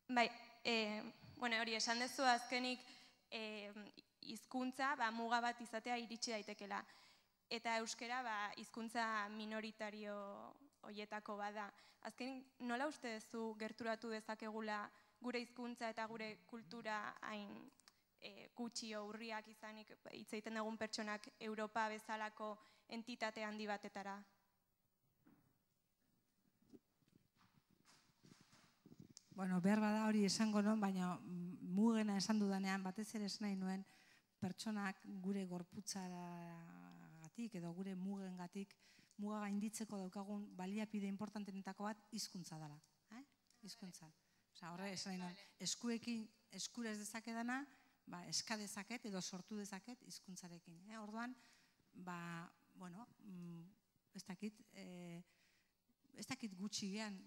Bai, bueno, hori esan dezu azkenik hizkuntza muga bat izatea iritsi daitekela. Eta euskera hizkuntza minoritario horietako bada. Azkenik, nola uste duzu gerturatu dezakegula gure hizkuntza eta gure kultura hain gutxi urriak izanik hitz egiten dugun pertsonak Europa bezalako entitate handi batetara? Bueno, behar bada hori esango non, baina mugena esan dudanean, batez ere esan nahi nuen pertsonak gure gorputzagatik edo gure mugengatik muga gainditzeko daukagun baliapide importantenetako bat hizkuntza dela. Hizkuntza. Horre esan nahi nuen, eskuekin eskura ez dezakedana, eska dezaket edo sortu dezaket hizkuntzarekin. Orduan, bueno, ez dakit, ez dakit gutxi gean,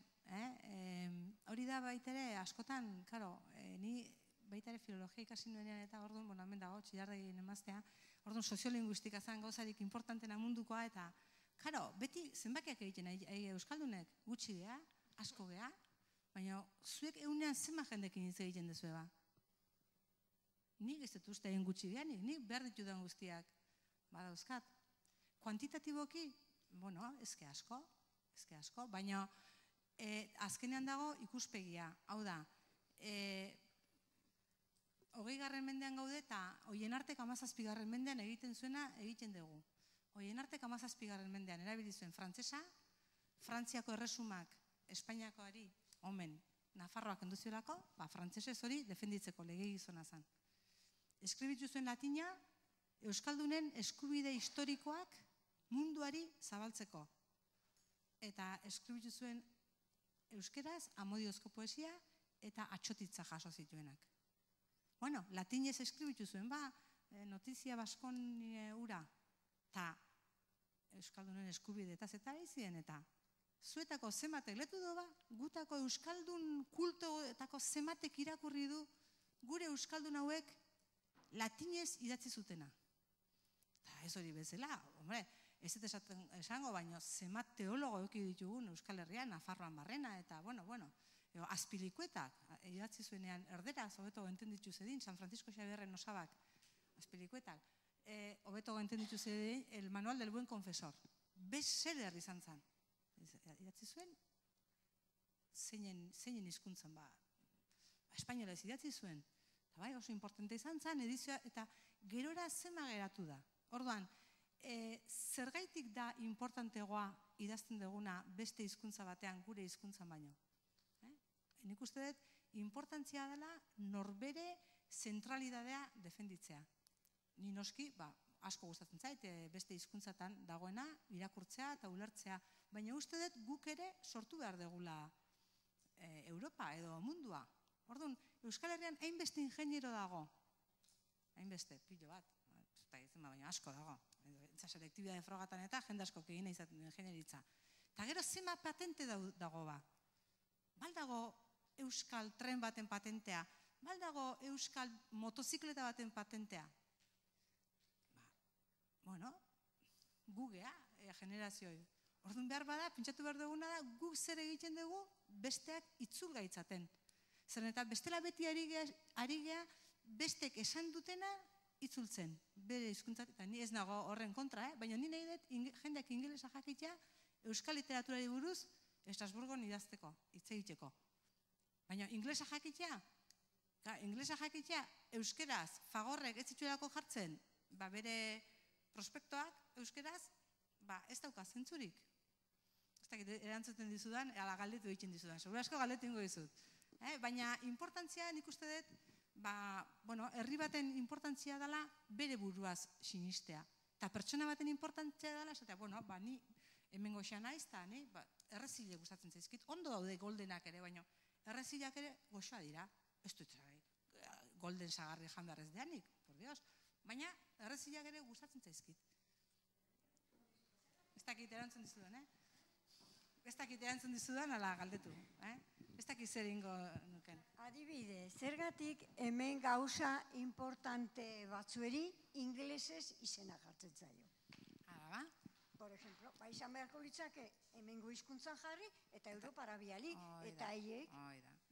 hori da baitere askotan, karo, ni baitere filologia ikasi nuenean eta orduan, bueno, hemen dago, txillardegi nemaztea, orduan soziolinguistika zen gauzarik importantena mundukoa eta, karo, beti zenbakiak egiten euskaldunek gutxi geha, asko geha, baina zuek egunean zenba jendekin hitz egiten dezu eba. Nik ez dut uste egin gutxi geha, nik behar ditudan guztiak badauzkat. Kuantitatiboki, bueno, ezke asko, ezke asko, baina azkenean dago ikuspegia, hau da, hogei garren mendean gaude eta hoien artek hamazazpi garren mendean egiten zuena egiten dugu. Hoien artek hamazazpi garren mendean erabili zuen frantsesa, Frantziako erresumak Espainiakoari, omen, Nafarroak enduziolako, frantsesez hori defenditzeko legegizona zen. Eskribitu zuen latina, euskaldunen eskubide historikoak munduari zabaltzeko. Eta eskribitu zuen euskeraz, amodiozko poesia eta atxotitza jaso zituenak. Bueno, latinez eskribitu zuen, ba, notizia baskon ura, eta euskaldunen eskubide eta zeta izien, eta zuetako zematek letu du ba, gutako euskaldun kultoetako zematek irakurri du gure euskaldun hauek latinez idatzi zutena. Eta ez hori bezala, hombre, ez dut esango, baina zemat teologo eki ditugun Euskal Herrian, Nafarroan barrena, eta, bueno, bueno, azpilikuetak, idatzi zuenean erderaz, hobeto entenditu zedin, San Francisco Xabierren osabak, azpilikuetak, hobeto entenditu zedin, el manual del buen confesor, bestseller izan zen. Idatzi zuen, zeinen hizkuntzan, ba, espainola ez idatzi zuen, eta bai, oso importante izan zen, edizioa, eta gerora zema geratu da. Orduan, zergaitik da importantegoa idazten duguna beste hizkuntza batean gure hizkuntzan baino. Nik uste dut, importantzia dela norbere zentralidadea defenditzea. Ni noski, asko gustatzen zait, beste hizkuntzatan dagoena, irakurtzea eta ulertzea, baina uste dut guk ere sortu behar degula Europa edo mundua. Orduan, Euskal Herrian hainbeste ingeniero dago. Hainbeste, pilo bat, baina asko dago. Selektibitate frogatan eta jende asko egin izaten ingenieritza. Eta gero zema patente dago ba. Baldago euskal tren baten patentea, baldago euskal motozikleta baten patentea. Bueno, gugea, generazioi. Orduan behar bada, pentsatu behar duguna da, guk zer egiten dugu besteak itzul gaitzaten. Zer eta bestela beti ari gea, bestek esan dutena itzultzen. Bere hizkuntzat, eta ni ez nago horren kontra, eh? Baina ni nahi dut jendeak ingelesa jakitea euskal literaturari buruz Estrasburgon idazteko, hitz egiteko. Baina ingelesa jakitea, ingelesa jakitea euskeraz, Fagorrek ez zituelako jartzen, ba bere prospektoak euskeraz, ba ez dauka zentzurik. Ez dakit erantzuten dizudan, ala galdetu egiten dizudan, segura asko galdetu ingo dizut. Baina importantzia nik uste dut, ba, bueno, herri baten importantzia dela bere buruaz sinistea. Eta pertsona baten importantzia dela, esatea, bueno, ba, ni hemen goxea naiz, eta ni, ba, errezile gustatzen zaizkit, ondo daude goldenak ere, baina errezileak ere goxoa dira. Ez dut golden sagarri jan behar ez deanik, por Dios. Baina errezileak ere gustatzen zaizkit. Ez dakit erantzun dizudan, eh? Ez dakit erantzun dizudan, ala galdetu, eh? Ez dakit zer ingo nuken. Adibide, zergatik hemen gauza importante batzueri ingelesez izena jartzen zaio. Hala ba? Por ejemplo, ba izan beharko litzake hemengo hizkuntzan jarri eta Europara biali, eta haiek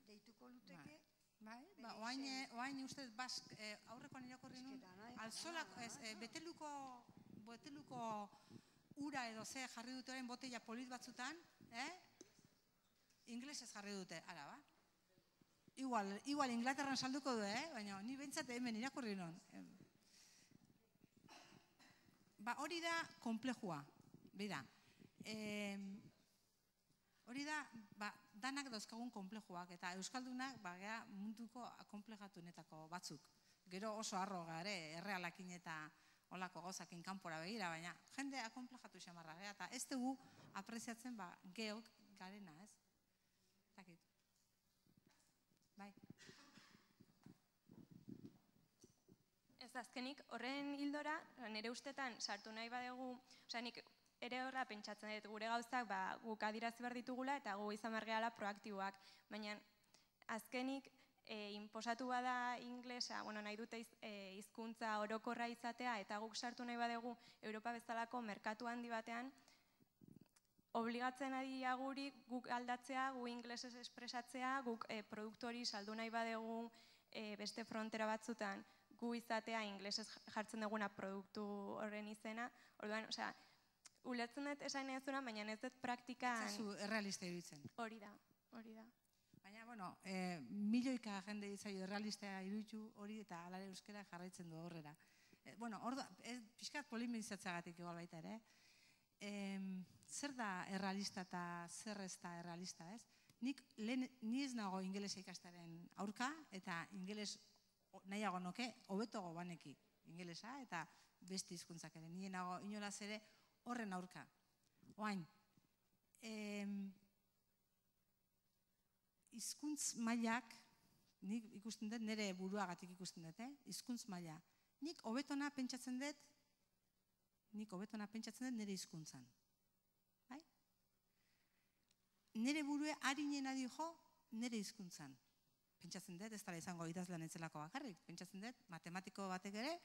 deituko luteke. Bai, ba, oain ustez bask, aurrekoan irakorri nun, alzolak, beteluko, beteluko ura edo ze jarri dute orain botella polit batzutan, eh? Inglesez jarri dute, ara ba? Igual, igual Inglaterran salduko du, eh? Baina ni bentsat hemen irakurri non. Ba, hori da komplejua, bida. Hori da, ba, danak dauzkagun konplejuak, eta euskaldunak, ba, gea munduko konplejatunetako batzuk. Gero oso arro gare, errealakin eta olako gozakin kanpora begira, baina jende akonplejatu xamarra, eta ez dugu apreziatzen, ba, geok garena, ez? Takit. Bai. Ez azkenik, horren hildora, nire ustetan, sartu nahi badegu, osea, nik ere horra pentsatzen dut gure gauzak, ba, guk adirazi behar ditugula, eta gu izan behar gehala proaktiboak, baina azkenik, E, inposatu bada inglesa, bueno, nahi dute hizkuntza orokorra izatea, eta guk sartu nahi badegu Europa bezalako merkatu handi batean, obligatzen ari guri guk aldatzea, gu inglesez espresatzea, guk e, produktu hori saldu nahi badegu e, beste frontera batzutan, gu izatea inglesez jartzen duguna produktu horren izena, orduan, osea, ulertzen dut esan ez duna, baina ez dut praktikan... Zazu, errealista iruditzen. Hori da, hori da. Baina, bueno, eh, milioika jende izaio errealistea iruditu hori eta alare euskera jarraitzen du horrera. Eh, bueno, hor da, pixkat polimenizatzagatik igual baita ere. Eh, zer da errealista eta zer ez da errealista, ez? Nik lehen, ni ez nago ingelesa ikastaren aurka, eta ingeles nahiago noke, hobetogo baneki ingelesa, eta beste hizkuntzak ere. Nien nago inolaz ere horren aurka. Oain, eh, hizkuntz mailak, nik ikusten dut, nire buruagatik ikusten dut, eh? Hizkuntz maila. Nik hobetona pentsatzen dut, nik hobetona pentsatzen dut nire hizkuntzan. Bai? Nire burue harinena dijo nire hizkuntzan. Pentsatzen dut, ez dara izango idazlan entzelako bakarrik. Pentsatzen dut, matematiko batek ere,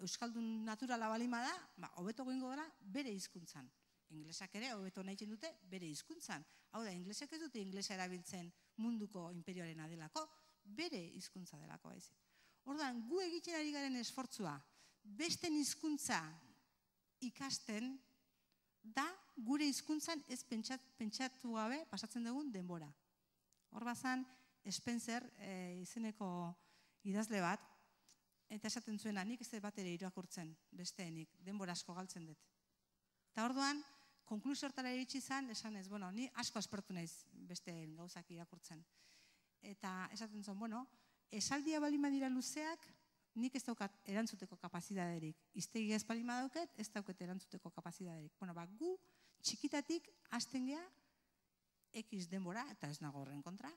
euskaldun naturala balima da, ba, hobeto goingo dela bere hizkuntzan. Inglesak ere hobeto nahi dute bere hizkuntzan. Hau da, inglesek ez dute inglesa erabiltzen munduko imperioarena delako, bere hizkuntza delako baizik. Orduan, gu egiten ari garen esfortzua, beste hizkuntza ikasten da gure hizkuntzan ez pentsatu gabe pasatzen dugun denbora. Hor bazan, Spencer izeneko idazle bat, eta esaten zuena, nik ez bat ere irakurtzen besteenik, denbora asko galtzen dut. Eta orduan, konklusio hortara iritsi izan, esan ez, bueno, ni asko aspertu naiz beste gauzak irakurtzen. Eta esaten zuen, bueno, esaldia balima dira luzeak, nik ez daukat erantzuteko kapazidaderik. Iztegi ez balima dauket, ez dauket erantzuteko kapazidaderik. Bueno, ba, gu txikitatik hasten gea, X denbora, eta ez nago horren kontra,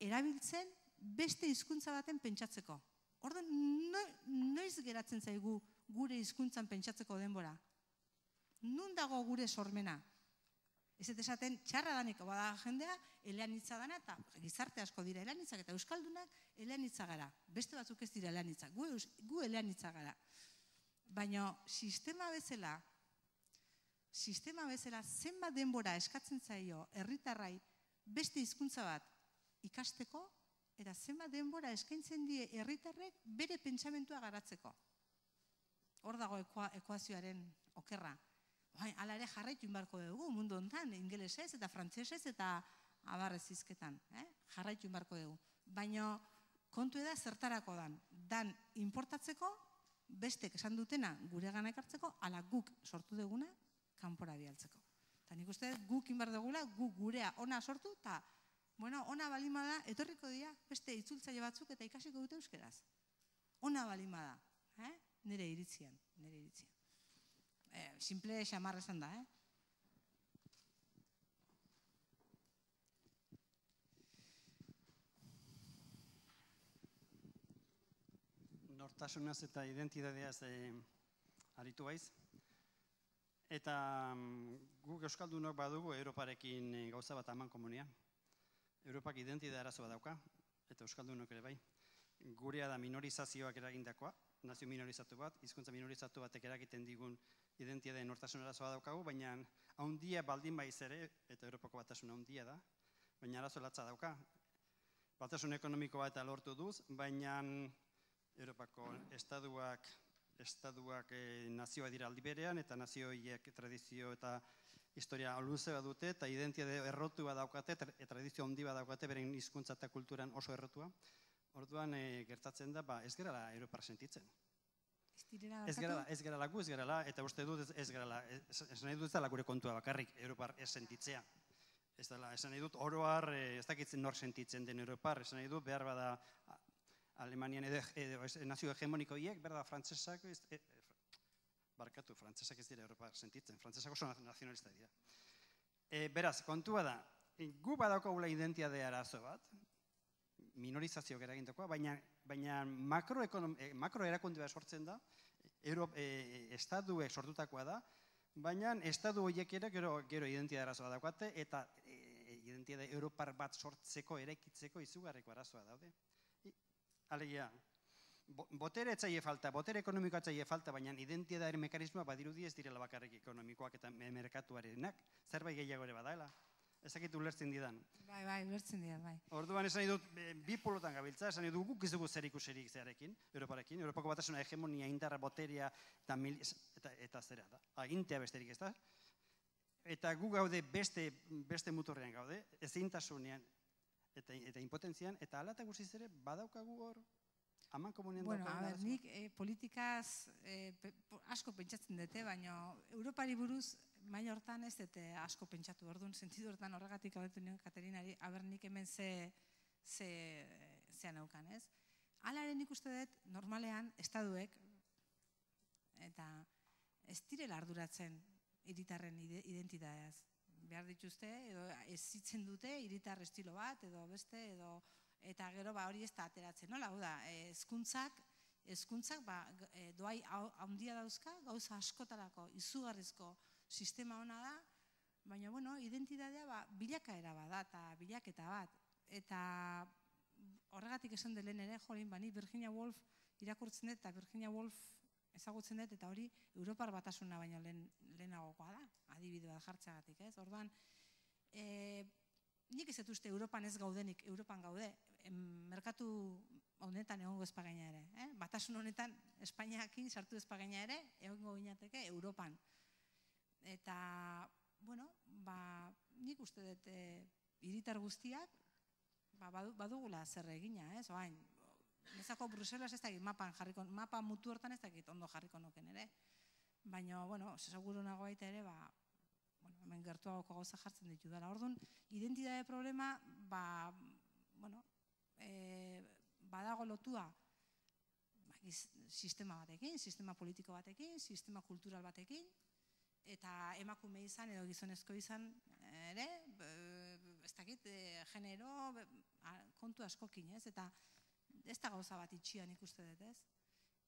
erabiltzen beste hizkuntza baten pentsatzeko. Orduan, noiz geratzen zaigu gure hizkuntzan pentsatzeko denbora? Nun dago gure sormena? Ez eta esaten txarra danik bada jendea, eleanitza dana, eta gizarte asko dira eleanitzak, eta euskaldunak eleanitza gara. Beste batzuk ez dira eleanitzak, gu eleanitza gara. Baina sistema bezala, sistema bezala zenbat denbora eskatzen zaio herritarrai beste hizkuntza bat ikasteko, eta zenbat denbora eskaintzen die herritarrek bere pentsamentua garatzeko. Hor dago ekuazioaren okerra. Hala ere jarraitu inbarko dugu, mundu honetan, ingelesez eta frantsesez eta abarrez hizketan. Jarraitu inbarko dugu. Baina kontu eda zertarako dan. Dan importatzeko, bestek esan dutena gure gana ekartzeko, ala guk sortu duguna, kanpora bialtzeko. Eta nik uste guk inbar dugula, guk gurea ona sortu, eta ona balimada, etorriko dira, beste itzultzaile batzuk eta ikasiko dute euskeraz. Ona balimada, nire iritzian, nire iritzian. Simple xamarra esan da, eh? Nortasunaz eta identitateaz aritu baiz. Eta guk euskaldunok badugu Europarekin gauza bat aman komunean. Europak identitate arazo bat dauka, eta euskaldunok ere bai. Gurea da minorizazioak eragindakoa, nazio minorizatu bat, hizkuntza minorizatu batek eragiten digun identitate nortasun arazoa daukagu, baina haundia baldin baiz ere, eta Europako batasun haundia da, baina arazo latza dauka. Batasun ekonomikoa eta lortu duz, baina Europako estaduak Estaduak nazioa dira aldi berean, eta nazioiek tradizio eta historia luze bat dute, eta identitate errotu bat daukate, tradizio handi bat daukate, beren hizkuntza eta kulturan oso errotua. Orduan gertatzen da, ez gerala Europar sentitzen. Ez gerala gu, ez gerala, eta uste dut ez gerala, ez nahi dut ez dela gure kontua bakarrik Europar ez sentitzea. Ez nahi dut oroar, ez dakitzen nor sentitzen den Europar, ez nahi dut behar bada Alemanian nazio hegemonikoiek, berda, frantzesak, barkatu, frantzesak ez dira Europa sentitzen, frantzesak oso nazionalista dira. Beraz, kontua da, gu badaukagula identitate arazo bat, minorizazio eragindakoa, baina makro erakunde bat sortzen da, estaduek sortutakoa da, baina estadu horiek ere gero identitate arazoa daukate, eta identitate Europar bat sortzeko, eraikitzeko izugarriko arazoa daude. Alegia, botere etzaile falta, botere ekonomikoa etzaile falta, baina identitatearen mekanismoa badirudi ez direla bakarrik ekonomikoak eta merkatuarenak, zerbait gehiago ere badaela. Ezakit ulertzen didan. Bai, bai, ulertzen didan, bai. Orduan esan dut, bi polotan gabiltza, esan dut guk ez dugu zer ikuserik zearekin, Europarekin, Europako batasuna hegemonia, indarra, boterea eta zera da. Agintea besterik ez da. Eta gu gaude beste muturrean gaude, ezintasunean eta impotentzian, eta ala eta guztiz ere badaukagu hor, aman komunien daukagu. Bueno, a ber, nik politikaz asko pentsatzen dute, baina Europari buruz maila hortan ez dute asko pentsatu, orduan sentidu hortan horregatik abetu nion Katerinari, aber nik hemen zean aukan, ez? Alaren nik uste dut, normalean, estaduek, eta ez direla arduratzen hiritarren identitateaz. Behar dituzte, edo ezitzen dute, hiritar estilo bat, edo beste, edo, eta gero hori ez da ateratzen, nola, hau da, ezkuntzak, ezkuntzak, doai handia dauzka, gauza askotarako, izugarrizko sistema hona da, baina, bueno, identitatea bilakaera bat da, eta bilaketa bat, eta horregatik esan delen ere, jolin, bani Virginia Woolf irakurtzen dut, eta Virginia Woolf ezagutzen dut, eta hori Europar batasuna baino lehenagokoa da, adibide bat jartzeagatik, ez? Orduan, nik ez dut uste Europan ez gaudenik, Europan gaude, merkatu honetan egongo espagaina ere, batasun honetan Espainiakin sartu espagaina ere, egongo ginateke Europan. Eta, bueno, nik uste dut hiritar guztiak badugula zer egina, ez? Oain, nezako Bruselas ez dakit mapan jarriko, mapa mutu hortan ez dakit ondo jarriko noken ere. Baina, bueno, seguro nago baita ere, hemen gertuagoko gauza jartzen ditu dela. Orduan, identitate problema, bueno, badago lotua sistema batekin, sistema politiko batekin, sistema kultural batekin, eta emakume izan edo gizonezko izan ere, ez dakit, genero, kontu askokin, ez? Eta ez da gauza bat itxian ikuste dut, ez?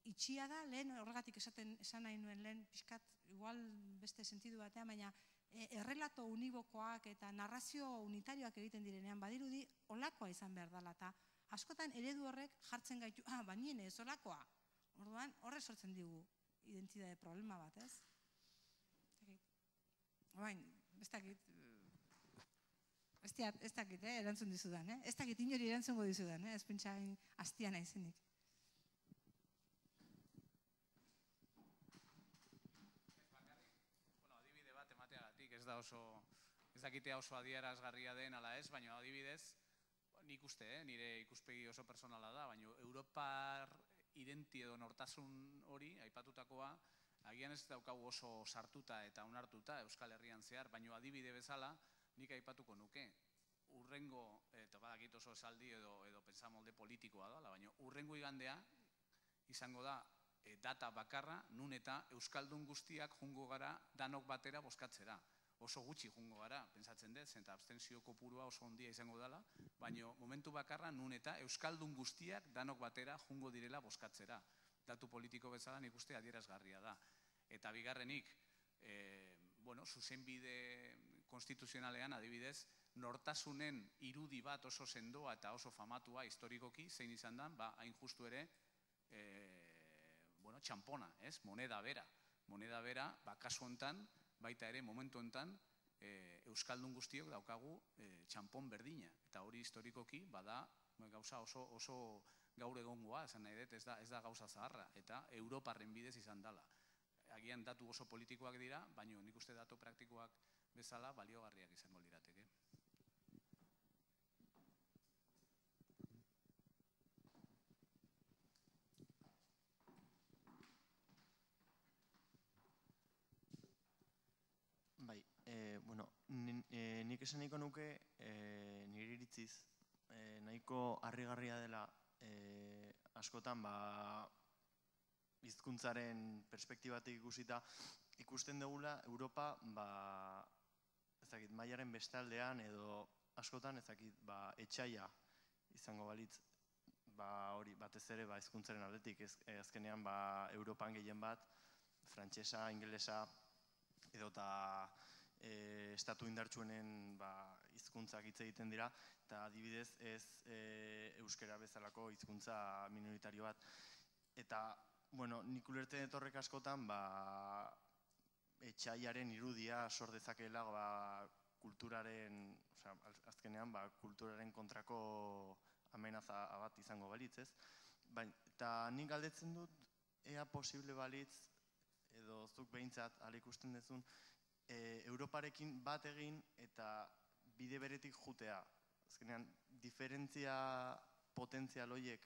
Itxia da, lehen horregatik esan nahi nuen lehen pixkat, igual beste sentidu batean, baina errelato unibokoak eta narrazio unitarioak egiten direnean badirudi olakoa izan behar dela, eta askotan eredu horrek jartzen gaitu, ah, banien ez olakoa. Orduan, horre sortzen digu identitate problema bat, ez? Oain, ez dakit, ez dakit, erantzun dizudan, ez dakit inori erantzungo dizudan, ez pentsain hastia naizenik. Adibide bat emateagatik, ez da oso, ez dakitea oso adierazgarria den ala ez, baina adibidez, nik uste, nire ikuspegi oso personala da, baina Europar identi edo nortasun hori, aipatutakoa, agian ez daukagu oso sartuta eta onartuta Euskal Herrian zehar, baina adibide bezala nik aipatuko nuke. Urrengo, eta badakit oso esaldi edo, edo pentsamolde politikoa da, baina urrengo igandea izango da data bakarra, nun eta Euskaldun guztiak jungo gara danok batera bozkatzera. Oso gutxi jungo gara, pentsatzen dut, eta abstentzio kopurua oso ondia izango dela, baina momentu bakarra nun eta Euskaldun guztiak danok batera jungo direla bozkatzera. Datu politiko bezala nik uste adierazgarria da. Eta bigarrenik, bueno, zuzenbide konstituzionalean adibidez, nortasunen irudi bat oso sendoa eta oso famatua historikoki, zein izan da, ba, hain justu ere, bueno, txampona, ez? Moneda bera. Moneda bera, ba, kasu hontan, baita ere, momentu hontan, Euskaldun guztiok daukagu txampon berdina. Eta hori historikoki, bada, gauza oso gaur egongoa, esan nahi dut, ez da gauza zaharra, eta Europarren bidez izan dela. Agian datu oso politikoak dira, baina nik uste datu praktikoak bezala baliogarriak izango lirateke. Bai, bueno, nik esan nahiko nuke nire iritziz, nahiko harrigarria dela askotan hizkuntzaren perspektibatik ikusita ikusten dugula Europa mailaren bestaldean edo askotan etxaia izango balitz hori batez ere hizkuntzaren aldetik azkenean Europan gehien bat frantsesa, ingelesa edota estatu indartsuenen hizkuntzak hitz egiten dira, eta adibidez ez euskara bezalako hizkuntza minoritario bat. Eta, bueno, nik ulertzen dut horrek askotan, etxaiaren irudia sor dezakeela kulturaren, azkenean, kulturaren kontrako amenaza bat izango balitz, ez? Eta nik galdetzen dut, ea posible balitz, edo zuk behintzat, ala ikusten duzun, Europarekin bat egin eta bide beretik jutea. Azkenean, diferentzia potentzial horiek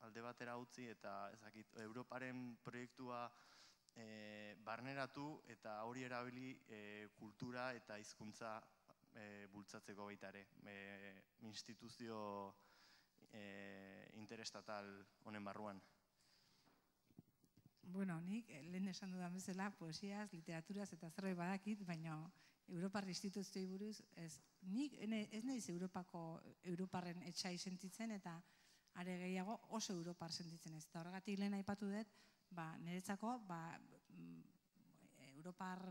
alde batera utzi eta Europaren proiektua barneratu eta hori erabili kultura eta hizkuntza bultzatzeko baita ere. Instituzio interestatal honen barruan. Bueno, nik lehen esan dudan bezala, poesiaz, literaturaz eta zerbait badakit, baina Europar instituzioi buruz, nik ez nahiz Europako Europarren etxai sentitzen eta are gehiago oso Europar sentitzen ez. Eta horregatik lehen aipatu dut, niretzako Europar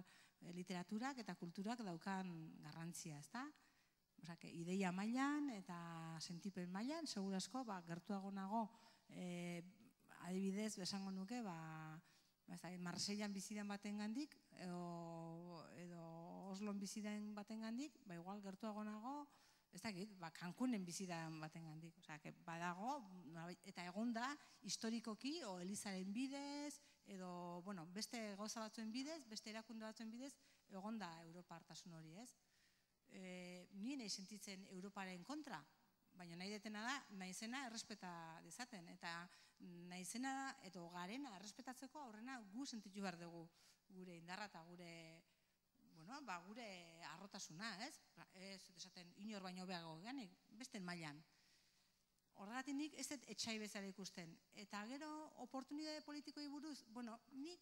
literaturak eta kulturak daukan garrantzia, ez da? Ideia mailan eta sentipen mailan, segurazko, gertuago nago, adibidez, besango nuke, Marseilan bizidan baten gandik, edo Oslon bizidan baten gandik, igual gertuago nago, ez dakit, Cancunen bizidan baten gandik. Badago, eta egon da, historikoki, o Elizaren bidez, edo, bueno, beste gauza batzuen bidez, beste erakunde batzuen bidez, egon da Europartasun hori, ez? Ni nahi sentitzen Europaren kontra, baina nahi detena da, nahi zena errespeta dezaten, eta nahi zena edo garena errespetatzeko aurrena gu sentitu behar dugu gure indarra eta gure gure arrotasuna, ez? Ez desaten inor baino behago geanik, beste mailan. Horregatik nik ez dut etxai bezala ikusten. Eta gero, oportunitate politikoi buruz, bueno, nik,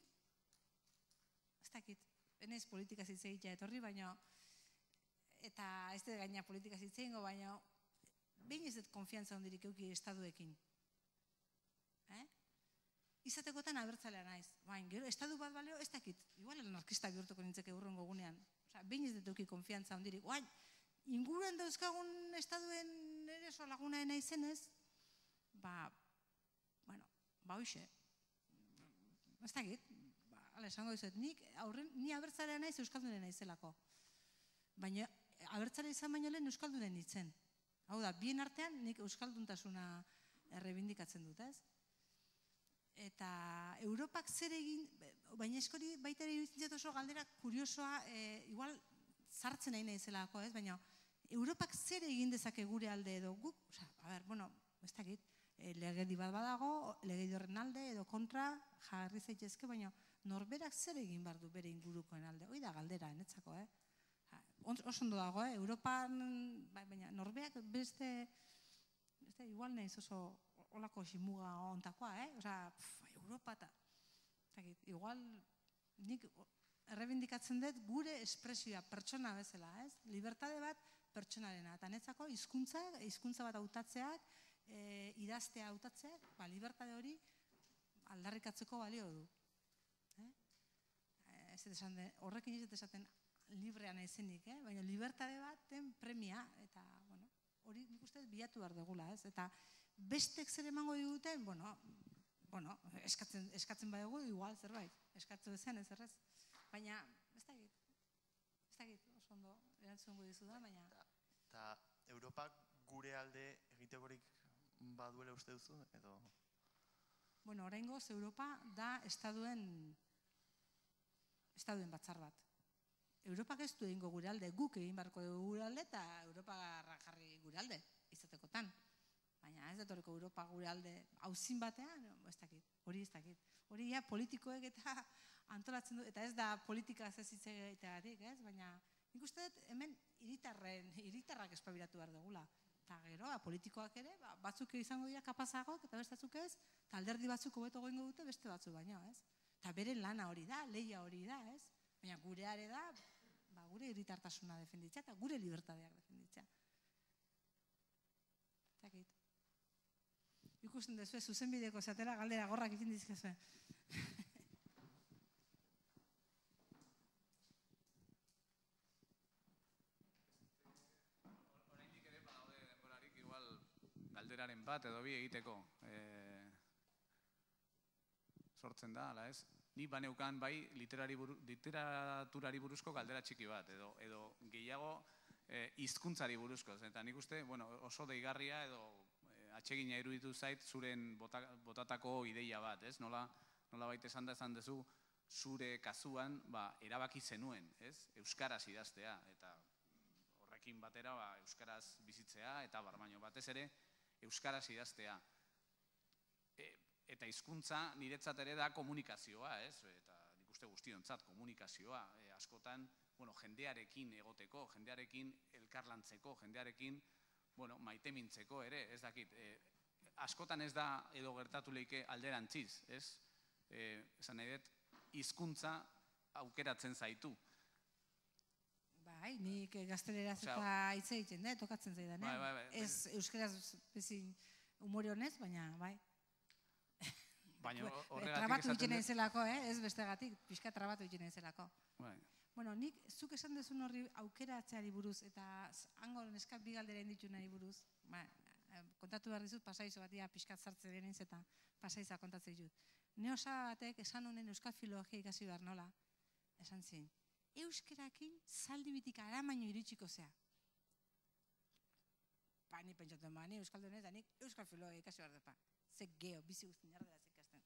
ez dakit, enez politika zitzegitea etorri, baina, eta ez dut gaina politika zitzeingo, baina, behin ez dut konfiantza hondirik euki estaduekin. Izatekotan abertzalea naiz. Baina, gero, estadu bat baleo, ez dakit. Igual anarkista bihurtuko nintzeke urrengo gunean. Osa, behin ez dutuki konfiantza hondirik. Oain, inguruan dauzkagun estaduen ere so lagunaena izenez, ba, bueno, ba hoxe. Ez dakit, ba, ala esango dizuet, nik aurren, ni abertzalea naiz euskaldunen naizelako. Baina, abertzalea izan baino lehen euskaldunen itzen. Hau da, bien artean nik euskalduntasuna errebindikatzen dut, ez? Eta Europak zer egin, baina eskori baita ere iruditzen oso galdera kuriosoa, igual sartzen nahi naizelako, ez? Baina Europak zer egin dezake gure alde edo guk, oza, a ber, bueno, ez dakit, legedi bat badago, legedi horren alde edo kontra jarri zaitezke, baina norberak zer egin behar du bere ingurukoen alde, hoi da galdera, enetzako, eh? Oso ondo dago, eh? Europan, baina norbeak beste, beste igual nahiz oso olako ximuga ontakoa, eh? Osa, Europa eta, igual nik errebindikatzen dut gure espresioa pertsona bezala, ez? Libertade bat pertsonarena, eta netzako hizkuntza, hizkuntza bat hautatzeak, idaztea hautatzeak, ba, libertade hori aldarrikatzeko balio du. Horrekin ez esaten librean ezenik, baina libertade baten premia, eta hori nik uste bilatu behar dugula, ez? Eta bestek zer emango diguten, bueno, eskatzen badugu, igual zerbait, eskatzen zen ez errez. Baina, ez dakit, ez dakit, oso ondo, erantzungo dizu da, baina... Eta Europak gure alde egitekorik baduela uste duzu, edo? Bueno, oraingoz Europa da estaduen estaduen batzar bat. Europak ez du egingo gure alde, guk egin barko dugu gure alde, eta Europa jarri gure alde, izatekotan. Baina ez datoreko Europa gure alde hauzin batean, ez dakit, hori ez dakit. Hori ja politikoek eta antolatzen du, eta ez da politika ez hitz egiteagatik, ez? Baina nik uste dut hemen hiritarren, hiritarrak espabiratu behar dugula. Eta gero, politikoak ere, batzuk izango dira kapazagok, eta beste batzuk ez, eta alderdi batzuk hobeto goingo dute beste batzuk baino, ez? Eta beren lana hori da, lehia hori da, ez? Baina gure are da, gure hiritartasuna defenditzea eta gure libertadeak defenditzea. Zakit. Ikusten dezue, zuzenbideko zatera galdera gorrak ikin dizkezue. Oraindik ere badaude denborarik igual galderaren bat edo bi egiteko. Sortzen da, ala ez? Ni baneukan bai literaturari buruzko galdera txiki bat, edo gehiago hizkuntzari buruzko. Eta nik uste oso deigarria edo atsegina iruditu zait zuren botatako ideia bat, ez? Nola baita esan da esan dezu zure kasuan erabaki zenuen, ez? Euskaraz idaztea, eta horrekin batera euskaraz bizitzea, eta barbaino batez ere euskaraz idaztea. Eta hizkuntza niretzat ere da komunikazioa, ez? Eta nik uste guztiontzat komunikazioa, askotan, bueno, jendearekin egoteko, jendearekin elkarlantzeko, jendearekin, bueno, maitemintzeko ere, ez dakit. Askotan ez da edo gertatu leike alderantziz, ez? Esan nahi dut, hizkuntza aukeratzen zaitu. Bai, nik gazteleraz eta hitz egiten da, tokatzen zaidan, ez euskeraz bezin umore honez, baina, bai. Trabatu egiten zelako, ez bestegatik, pixka trabatu egiten zelako. Bueno, nik zuk esan dezun horri aukeratzeari buruz eta hango neskak bi galdera inditu nahi buruz, kontatu behar dizut pasaizo bat, pixkat zartze denez eta pasaiza kontatzen ditut. Neosa batek esan honen euskal filologia ikasi behar nola, esan zin, euskerakin zaldi bitik aramaino iritsiko zea. Ba, ni pentsatuen ba, ni euskal denez da nik euskal filologia ikasi behar depa. Ze geho, bizi guztin jarderaz ikasten.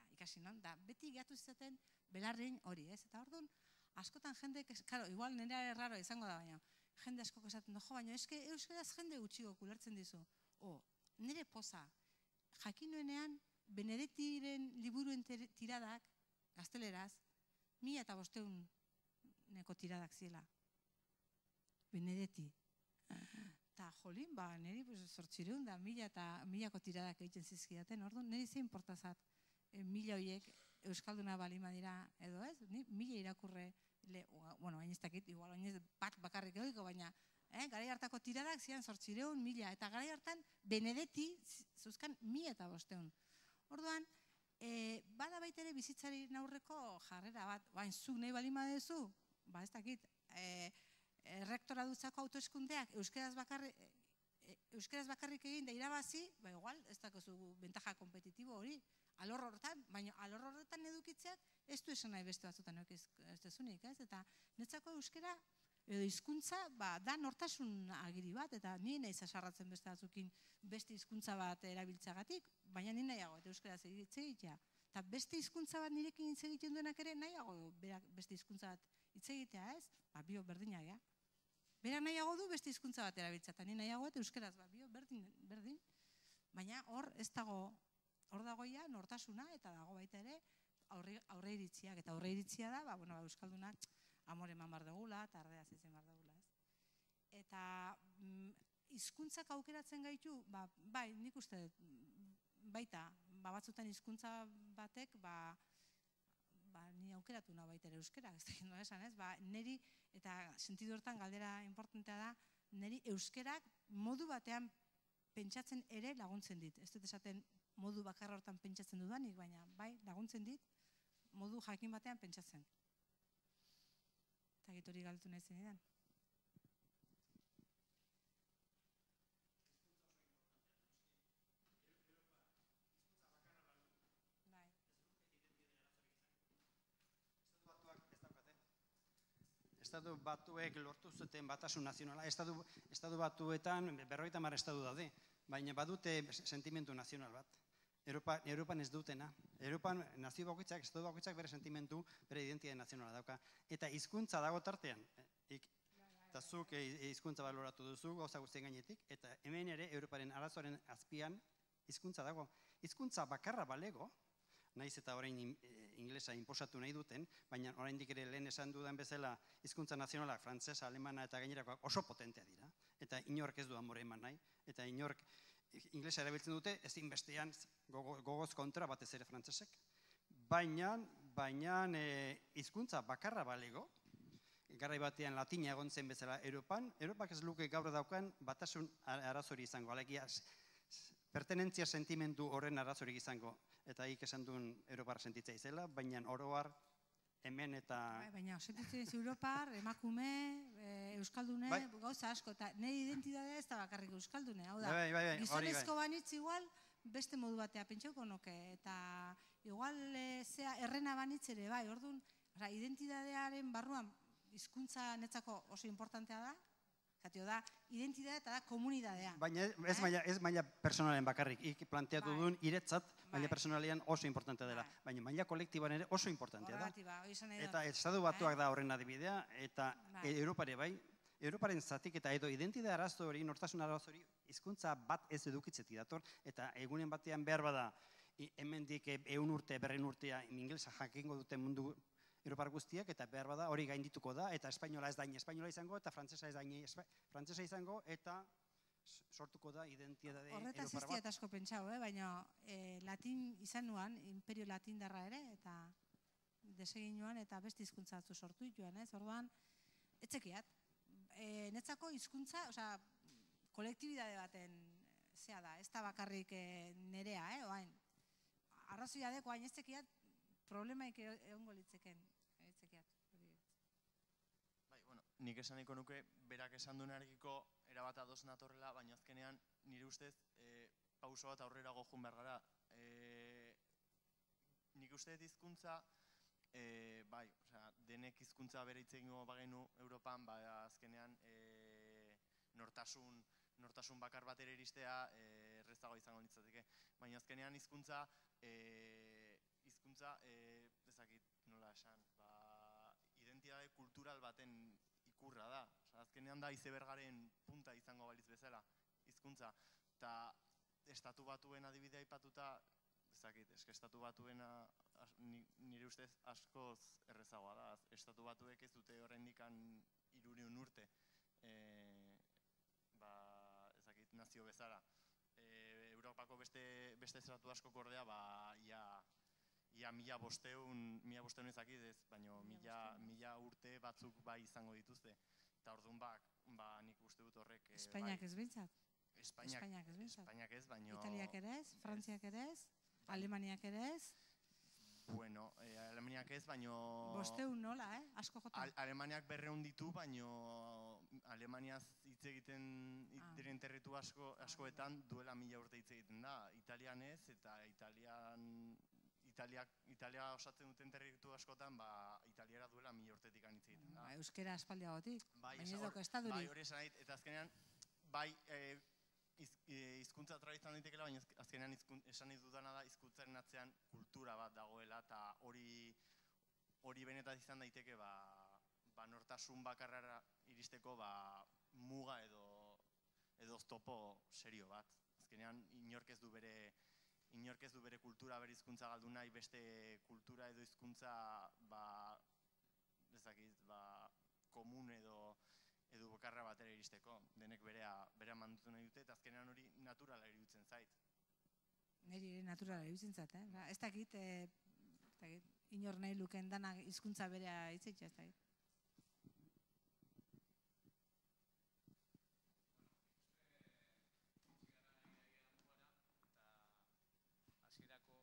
Eta ikasi non, da beti gehatu zizaten belarrein hori, ez? Eta orduan, askotan jende, karo, igual nire erraro izango da baina, jende askoko esaten du, jo, baina eske euskaraz jende gutxiko kulertzen dizu. O, nire poza, jakinoenean, Benedettiren liburuen tiradak, gazteleraz, mila eta bosteun neko tiradak zila. Benedetti. Eta jolin, ba, niri zortzireun da mila eta milako tiradak egiten zizkidaten, orduan, niri zein portazat mila horiek euskalduna balima dira edo ez, mila irakurre, bueno, hain ez dakit, igual hain ez bat bakarrik egiko, baina garai hartako tiradak zian zortzireun, mila, eta garai hartan Benedetti zuzkan mila eta bosteun. Orduan, bada baitere bizitzari aurreko jarrera bat, bain zuk nahi balima dezu, ba ez dakit, errektora dutzako autoeskundeak euskeraz bakarrik euskeraz bakarrik egin da irabazi, ba igual, ez dakozu bentaja kompetitibo hori, alor horretan, baina alor horretan edukitzeak ez du esan nahi beste batzutan ez dezunik, ez? Eta netzako euskera edo hizkuntza da nortasun agiri bat, eta ni nahi zasarratzen beste batzukin beste hizkuntza bat erabiltzagatik, baina ni nahiago eta euskeraz hitz egitea. Eta beste hizkuntza bat nirekin hitz egiten duenak ere nahiago beste hizkuntza bat hitz egitea, ez? Ba, bio berdinak, ja. Bera nahiago du beste hizkuntza bat erabiltzea, eta ni nahiago eta euskeraz, ba, bio berdin, berdin. Baina hor ez dago, hor dagoia nortasuna eta dago baita ere aurre iritziak, eta aurre iritzia da, ba, bueno, euskaldunak amore eman bar dugula, eta ardeaz izan bar dugula, ez? Eta hizkuntzak aukeratzen gaitu, ba, bai, nik uste baita, ba, batzutan hizkuntza batek, ba, ba, ni aukeratu nahi baita ere euskera, ez da gendo esan, ez? Ba, neri, eta sentidu hortan galdera importantea da, neri euskerak modu batean pentsatzen ere laguntzen dit. Ez dut esaten modu bakarra hortan pentsatzen dudanik, baina bai, laguntzen dit, modu jakin batean pentsatzen. Eta gitori galtu nahi zen edan. Estatu batuek lortu zuten batasun nazionala, estatu batuetan berrogeita hamar estatu daude, baina badute sentimentu nazional bat. Europan ez dutena. Europan nazio bakoitzak, estatu bakoitzak bere sentimentu, bere identitate nazionala dauka. Eta hizkuntza dago tartean. Eta zuk hizkuntza baloratu duzu, gauza guztien gainetik, eta hemen ere Europaren arazoaren azpian hizkuntza dago. Hizkuntza bakarra balego, naiz eta orain inglesa inposatu nahi duten, baina oraindik ere lehen esan dudan bezala hizkuntza nazionalak, frantsesa, alemana eta gainerakoak oso potentea dira. Eta inork ez du amore eman nahi, eta inork inglesa erabiltzen dute, ezin bestean gogoz kontra batez ere frantsesek. Baina, baina hizkuntza bakarra balego, garai batean latina egon zen bezala Europan, Europak ez luke gaur daukan batasun arazori izango, alegia pertenentzia sentimentu horren arazorik izango. Eta hik esan duen Europar sentitzea izela, baina oroar hemen eta... Baina sentitzen ez Europar, emakume, euskaldune, gauza asko, eta nire identitatea ez da bakarrik euskaldune, hau da, gizonezko banitz igual beste modu batea pentsauko noke, eta igual zea errena banitz ere, bai, orduan, identitatearen barruan hizkuntza netzako oso importantea da, zatio da, identitatea eta da komunitatea. Baina ez maila personalen bakarrik, ik planteatu duen iretzat, maila personalean oso importantea dela, baina maila kolektiboan ere oso importantea da. Eta estatu batuak da horren adibidea, eta Europare bai, Europaren zatik eta edo identitate arazo hori, nortasun arazo hori, hizkuntza bat ez edukitzetik dator, eta egunen batean behar bada, hemendik ehun urte, berren urtea, ingelesa jakingo duten mundu Europar guztiak, eta behar bada hori gaindituko da, eta espainola ez dain espainola izango, eta frantsesa ez dain frantsesa izango, eta sortuko da identitate Europar bat. Horretaz ez diat asko pentsau, baina latin izan nuan, imperio latindarra ere, eta desegin nuan, eta beste hizkuntza batzu sortu joan, ez? Orduan, etzekiat, netzako hizkuntza, osea, kolektibidade baten zea da, ez da bakarrik nerea, oain, arrazoia deko, hain etzekiat, problemaik egongo litzeken. Nik esan nahiko nuke, berak esan duenarekiko erabat ados natorrela, baina azkenean nire ustez pauso bat aurrera gojun behar gara. Nik uste hizkuntza, bai, denek hizkuntza bere hitz egingo bagenu Europan, azkenean nortasun bakar bat ere iristea errezago izango litzateke. Baina azkenean hizkuntza, hizkuntza, ezakit nola esan, identitate kultural baten ikurra da. Azkenean da izebergaren punta izango balitz bezala, hizkuntza. Eta estatu batuen adibidea aipatuta, ezakit, eske estatu batuena nire ustez askoz errezagoa da. Estatu batuek ez dute oraindikan hirurehun urte, ezakit, nazio bezala. Europako beste estatu asko kordea, ia ia mila bosteun, mila bosteun ezakit ez, baina mila urte batzuk bai izango dituzte. Eta orduan nik uste dut horrek... Espainiak ez bintzat? Espainiak ez bintzat. Italiak ere ez, Frantziak ere ez, Alemaniak ere ez? Bueno, eh, Alemaniak ez, baino... Bosteun nola, eh? Asko jota. Al Alemaniak berreun ditu, baino Alemaniaz hitz egiten Ah. diren territu asko, askoetan duela mila urte hitz egiten da. Italian ez, eta Italian... Italiak, Italia osatzen duten territu askotan, ba, italiara duela mila urtetik hitz egiten da. Ba, euskera aspaldiagotik, Bai, baina ez hor- dauka estadurik. Bai, hori esan nahi, eta azkenean, bai, eh, iz- eh, hizkuntza tradizioa daitekeela, baina azk- azkenean hizkun- esan nahi dudana da hizkuntzaren atzean kultura bat dagoela, eta hori hori benetan izan daiteke, ba, ba nortasun bakarrara iristeko, ba, muga edo edo oztopo serio bat. Azkenean, inork ez du bere inork ez du bere kultura, bere hizkuntza galdu nahi, beste kultura edo hizkuntza, ba, ez dakit, ba, komun edo edo bakarra batera iristeko. Denek berea, berea mandutu nahi dute, eta azkenean hori naturala iruditzen zait. Neri ere naturala iruditzen zait, eh? Ba, ez dakit, eh, ez dakit, inor nahi luken danak hizkuntza berea hitzitzea, ez dakit. Hasierako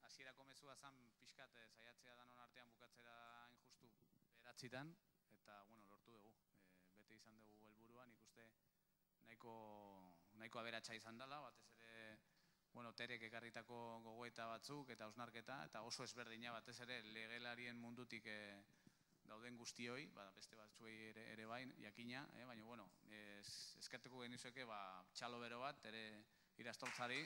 hasierako mezua zan pixkat eh, saiatzea danon artean bukatzera hain justu beratzitan, eta bueno, lortu dugu. E, bete izan dugu helburua, nik uste nahiko nahiko aberatsa izan dela, batez ere bueno, Terek ekarritako gogoeta batzuk eta hausnarketa, eta oso ezberdina batez ere legelarien mundutik e, dauden guztioi, ba, beste batzuei ere, ere bain, jakina, eh? Baina bueno, ez, eskerteko genizueke ba, txalo bero bat, ere irastortzari.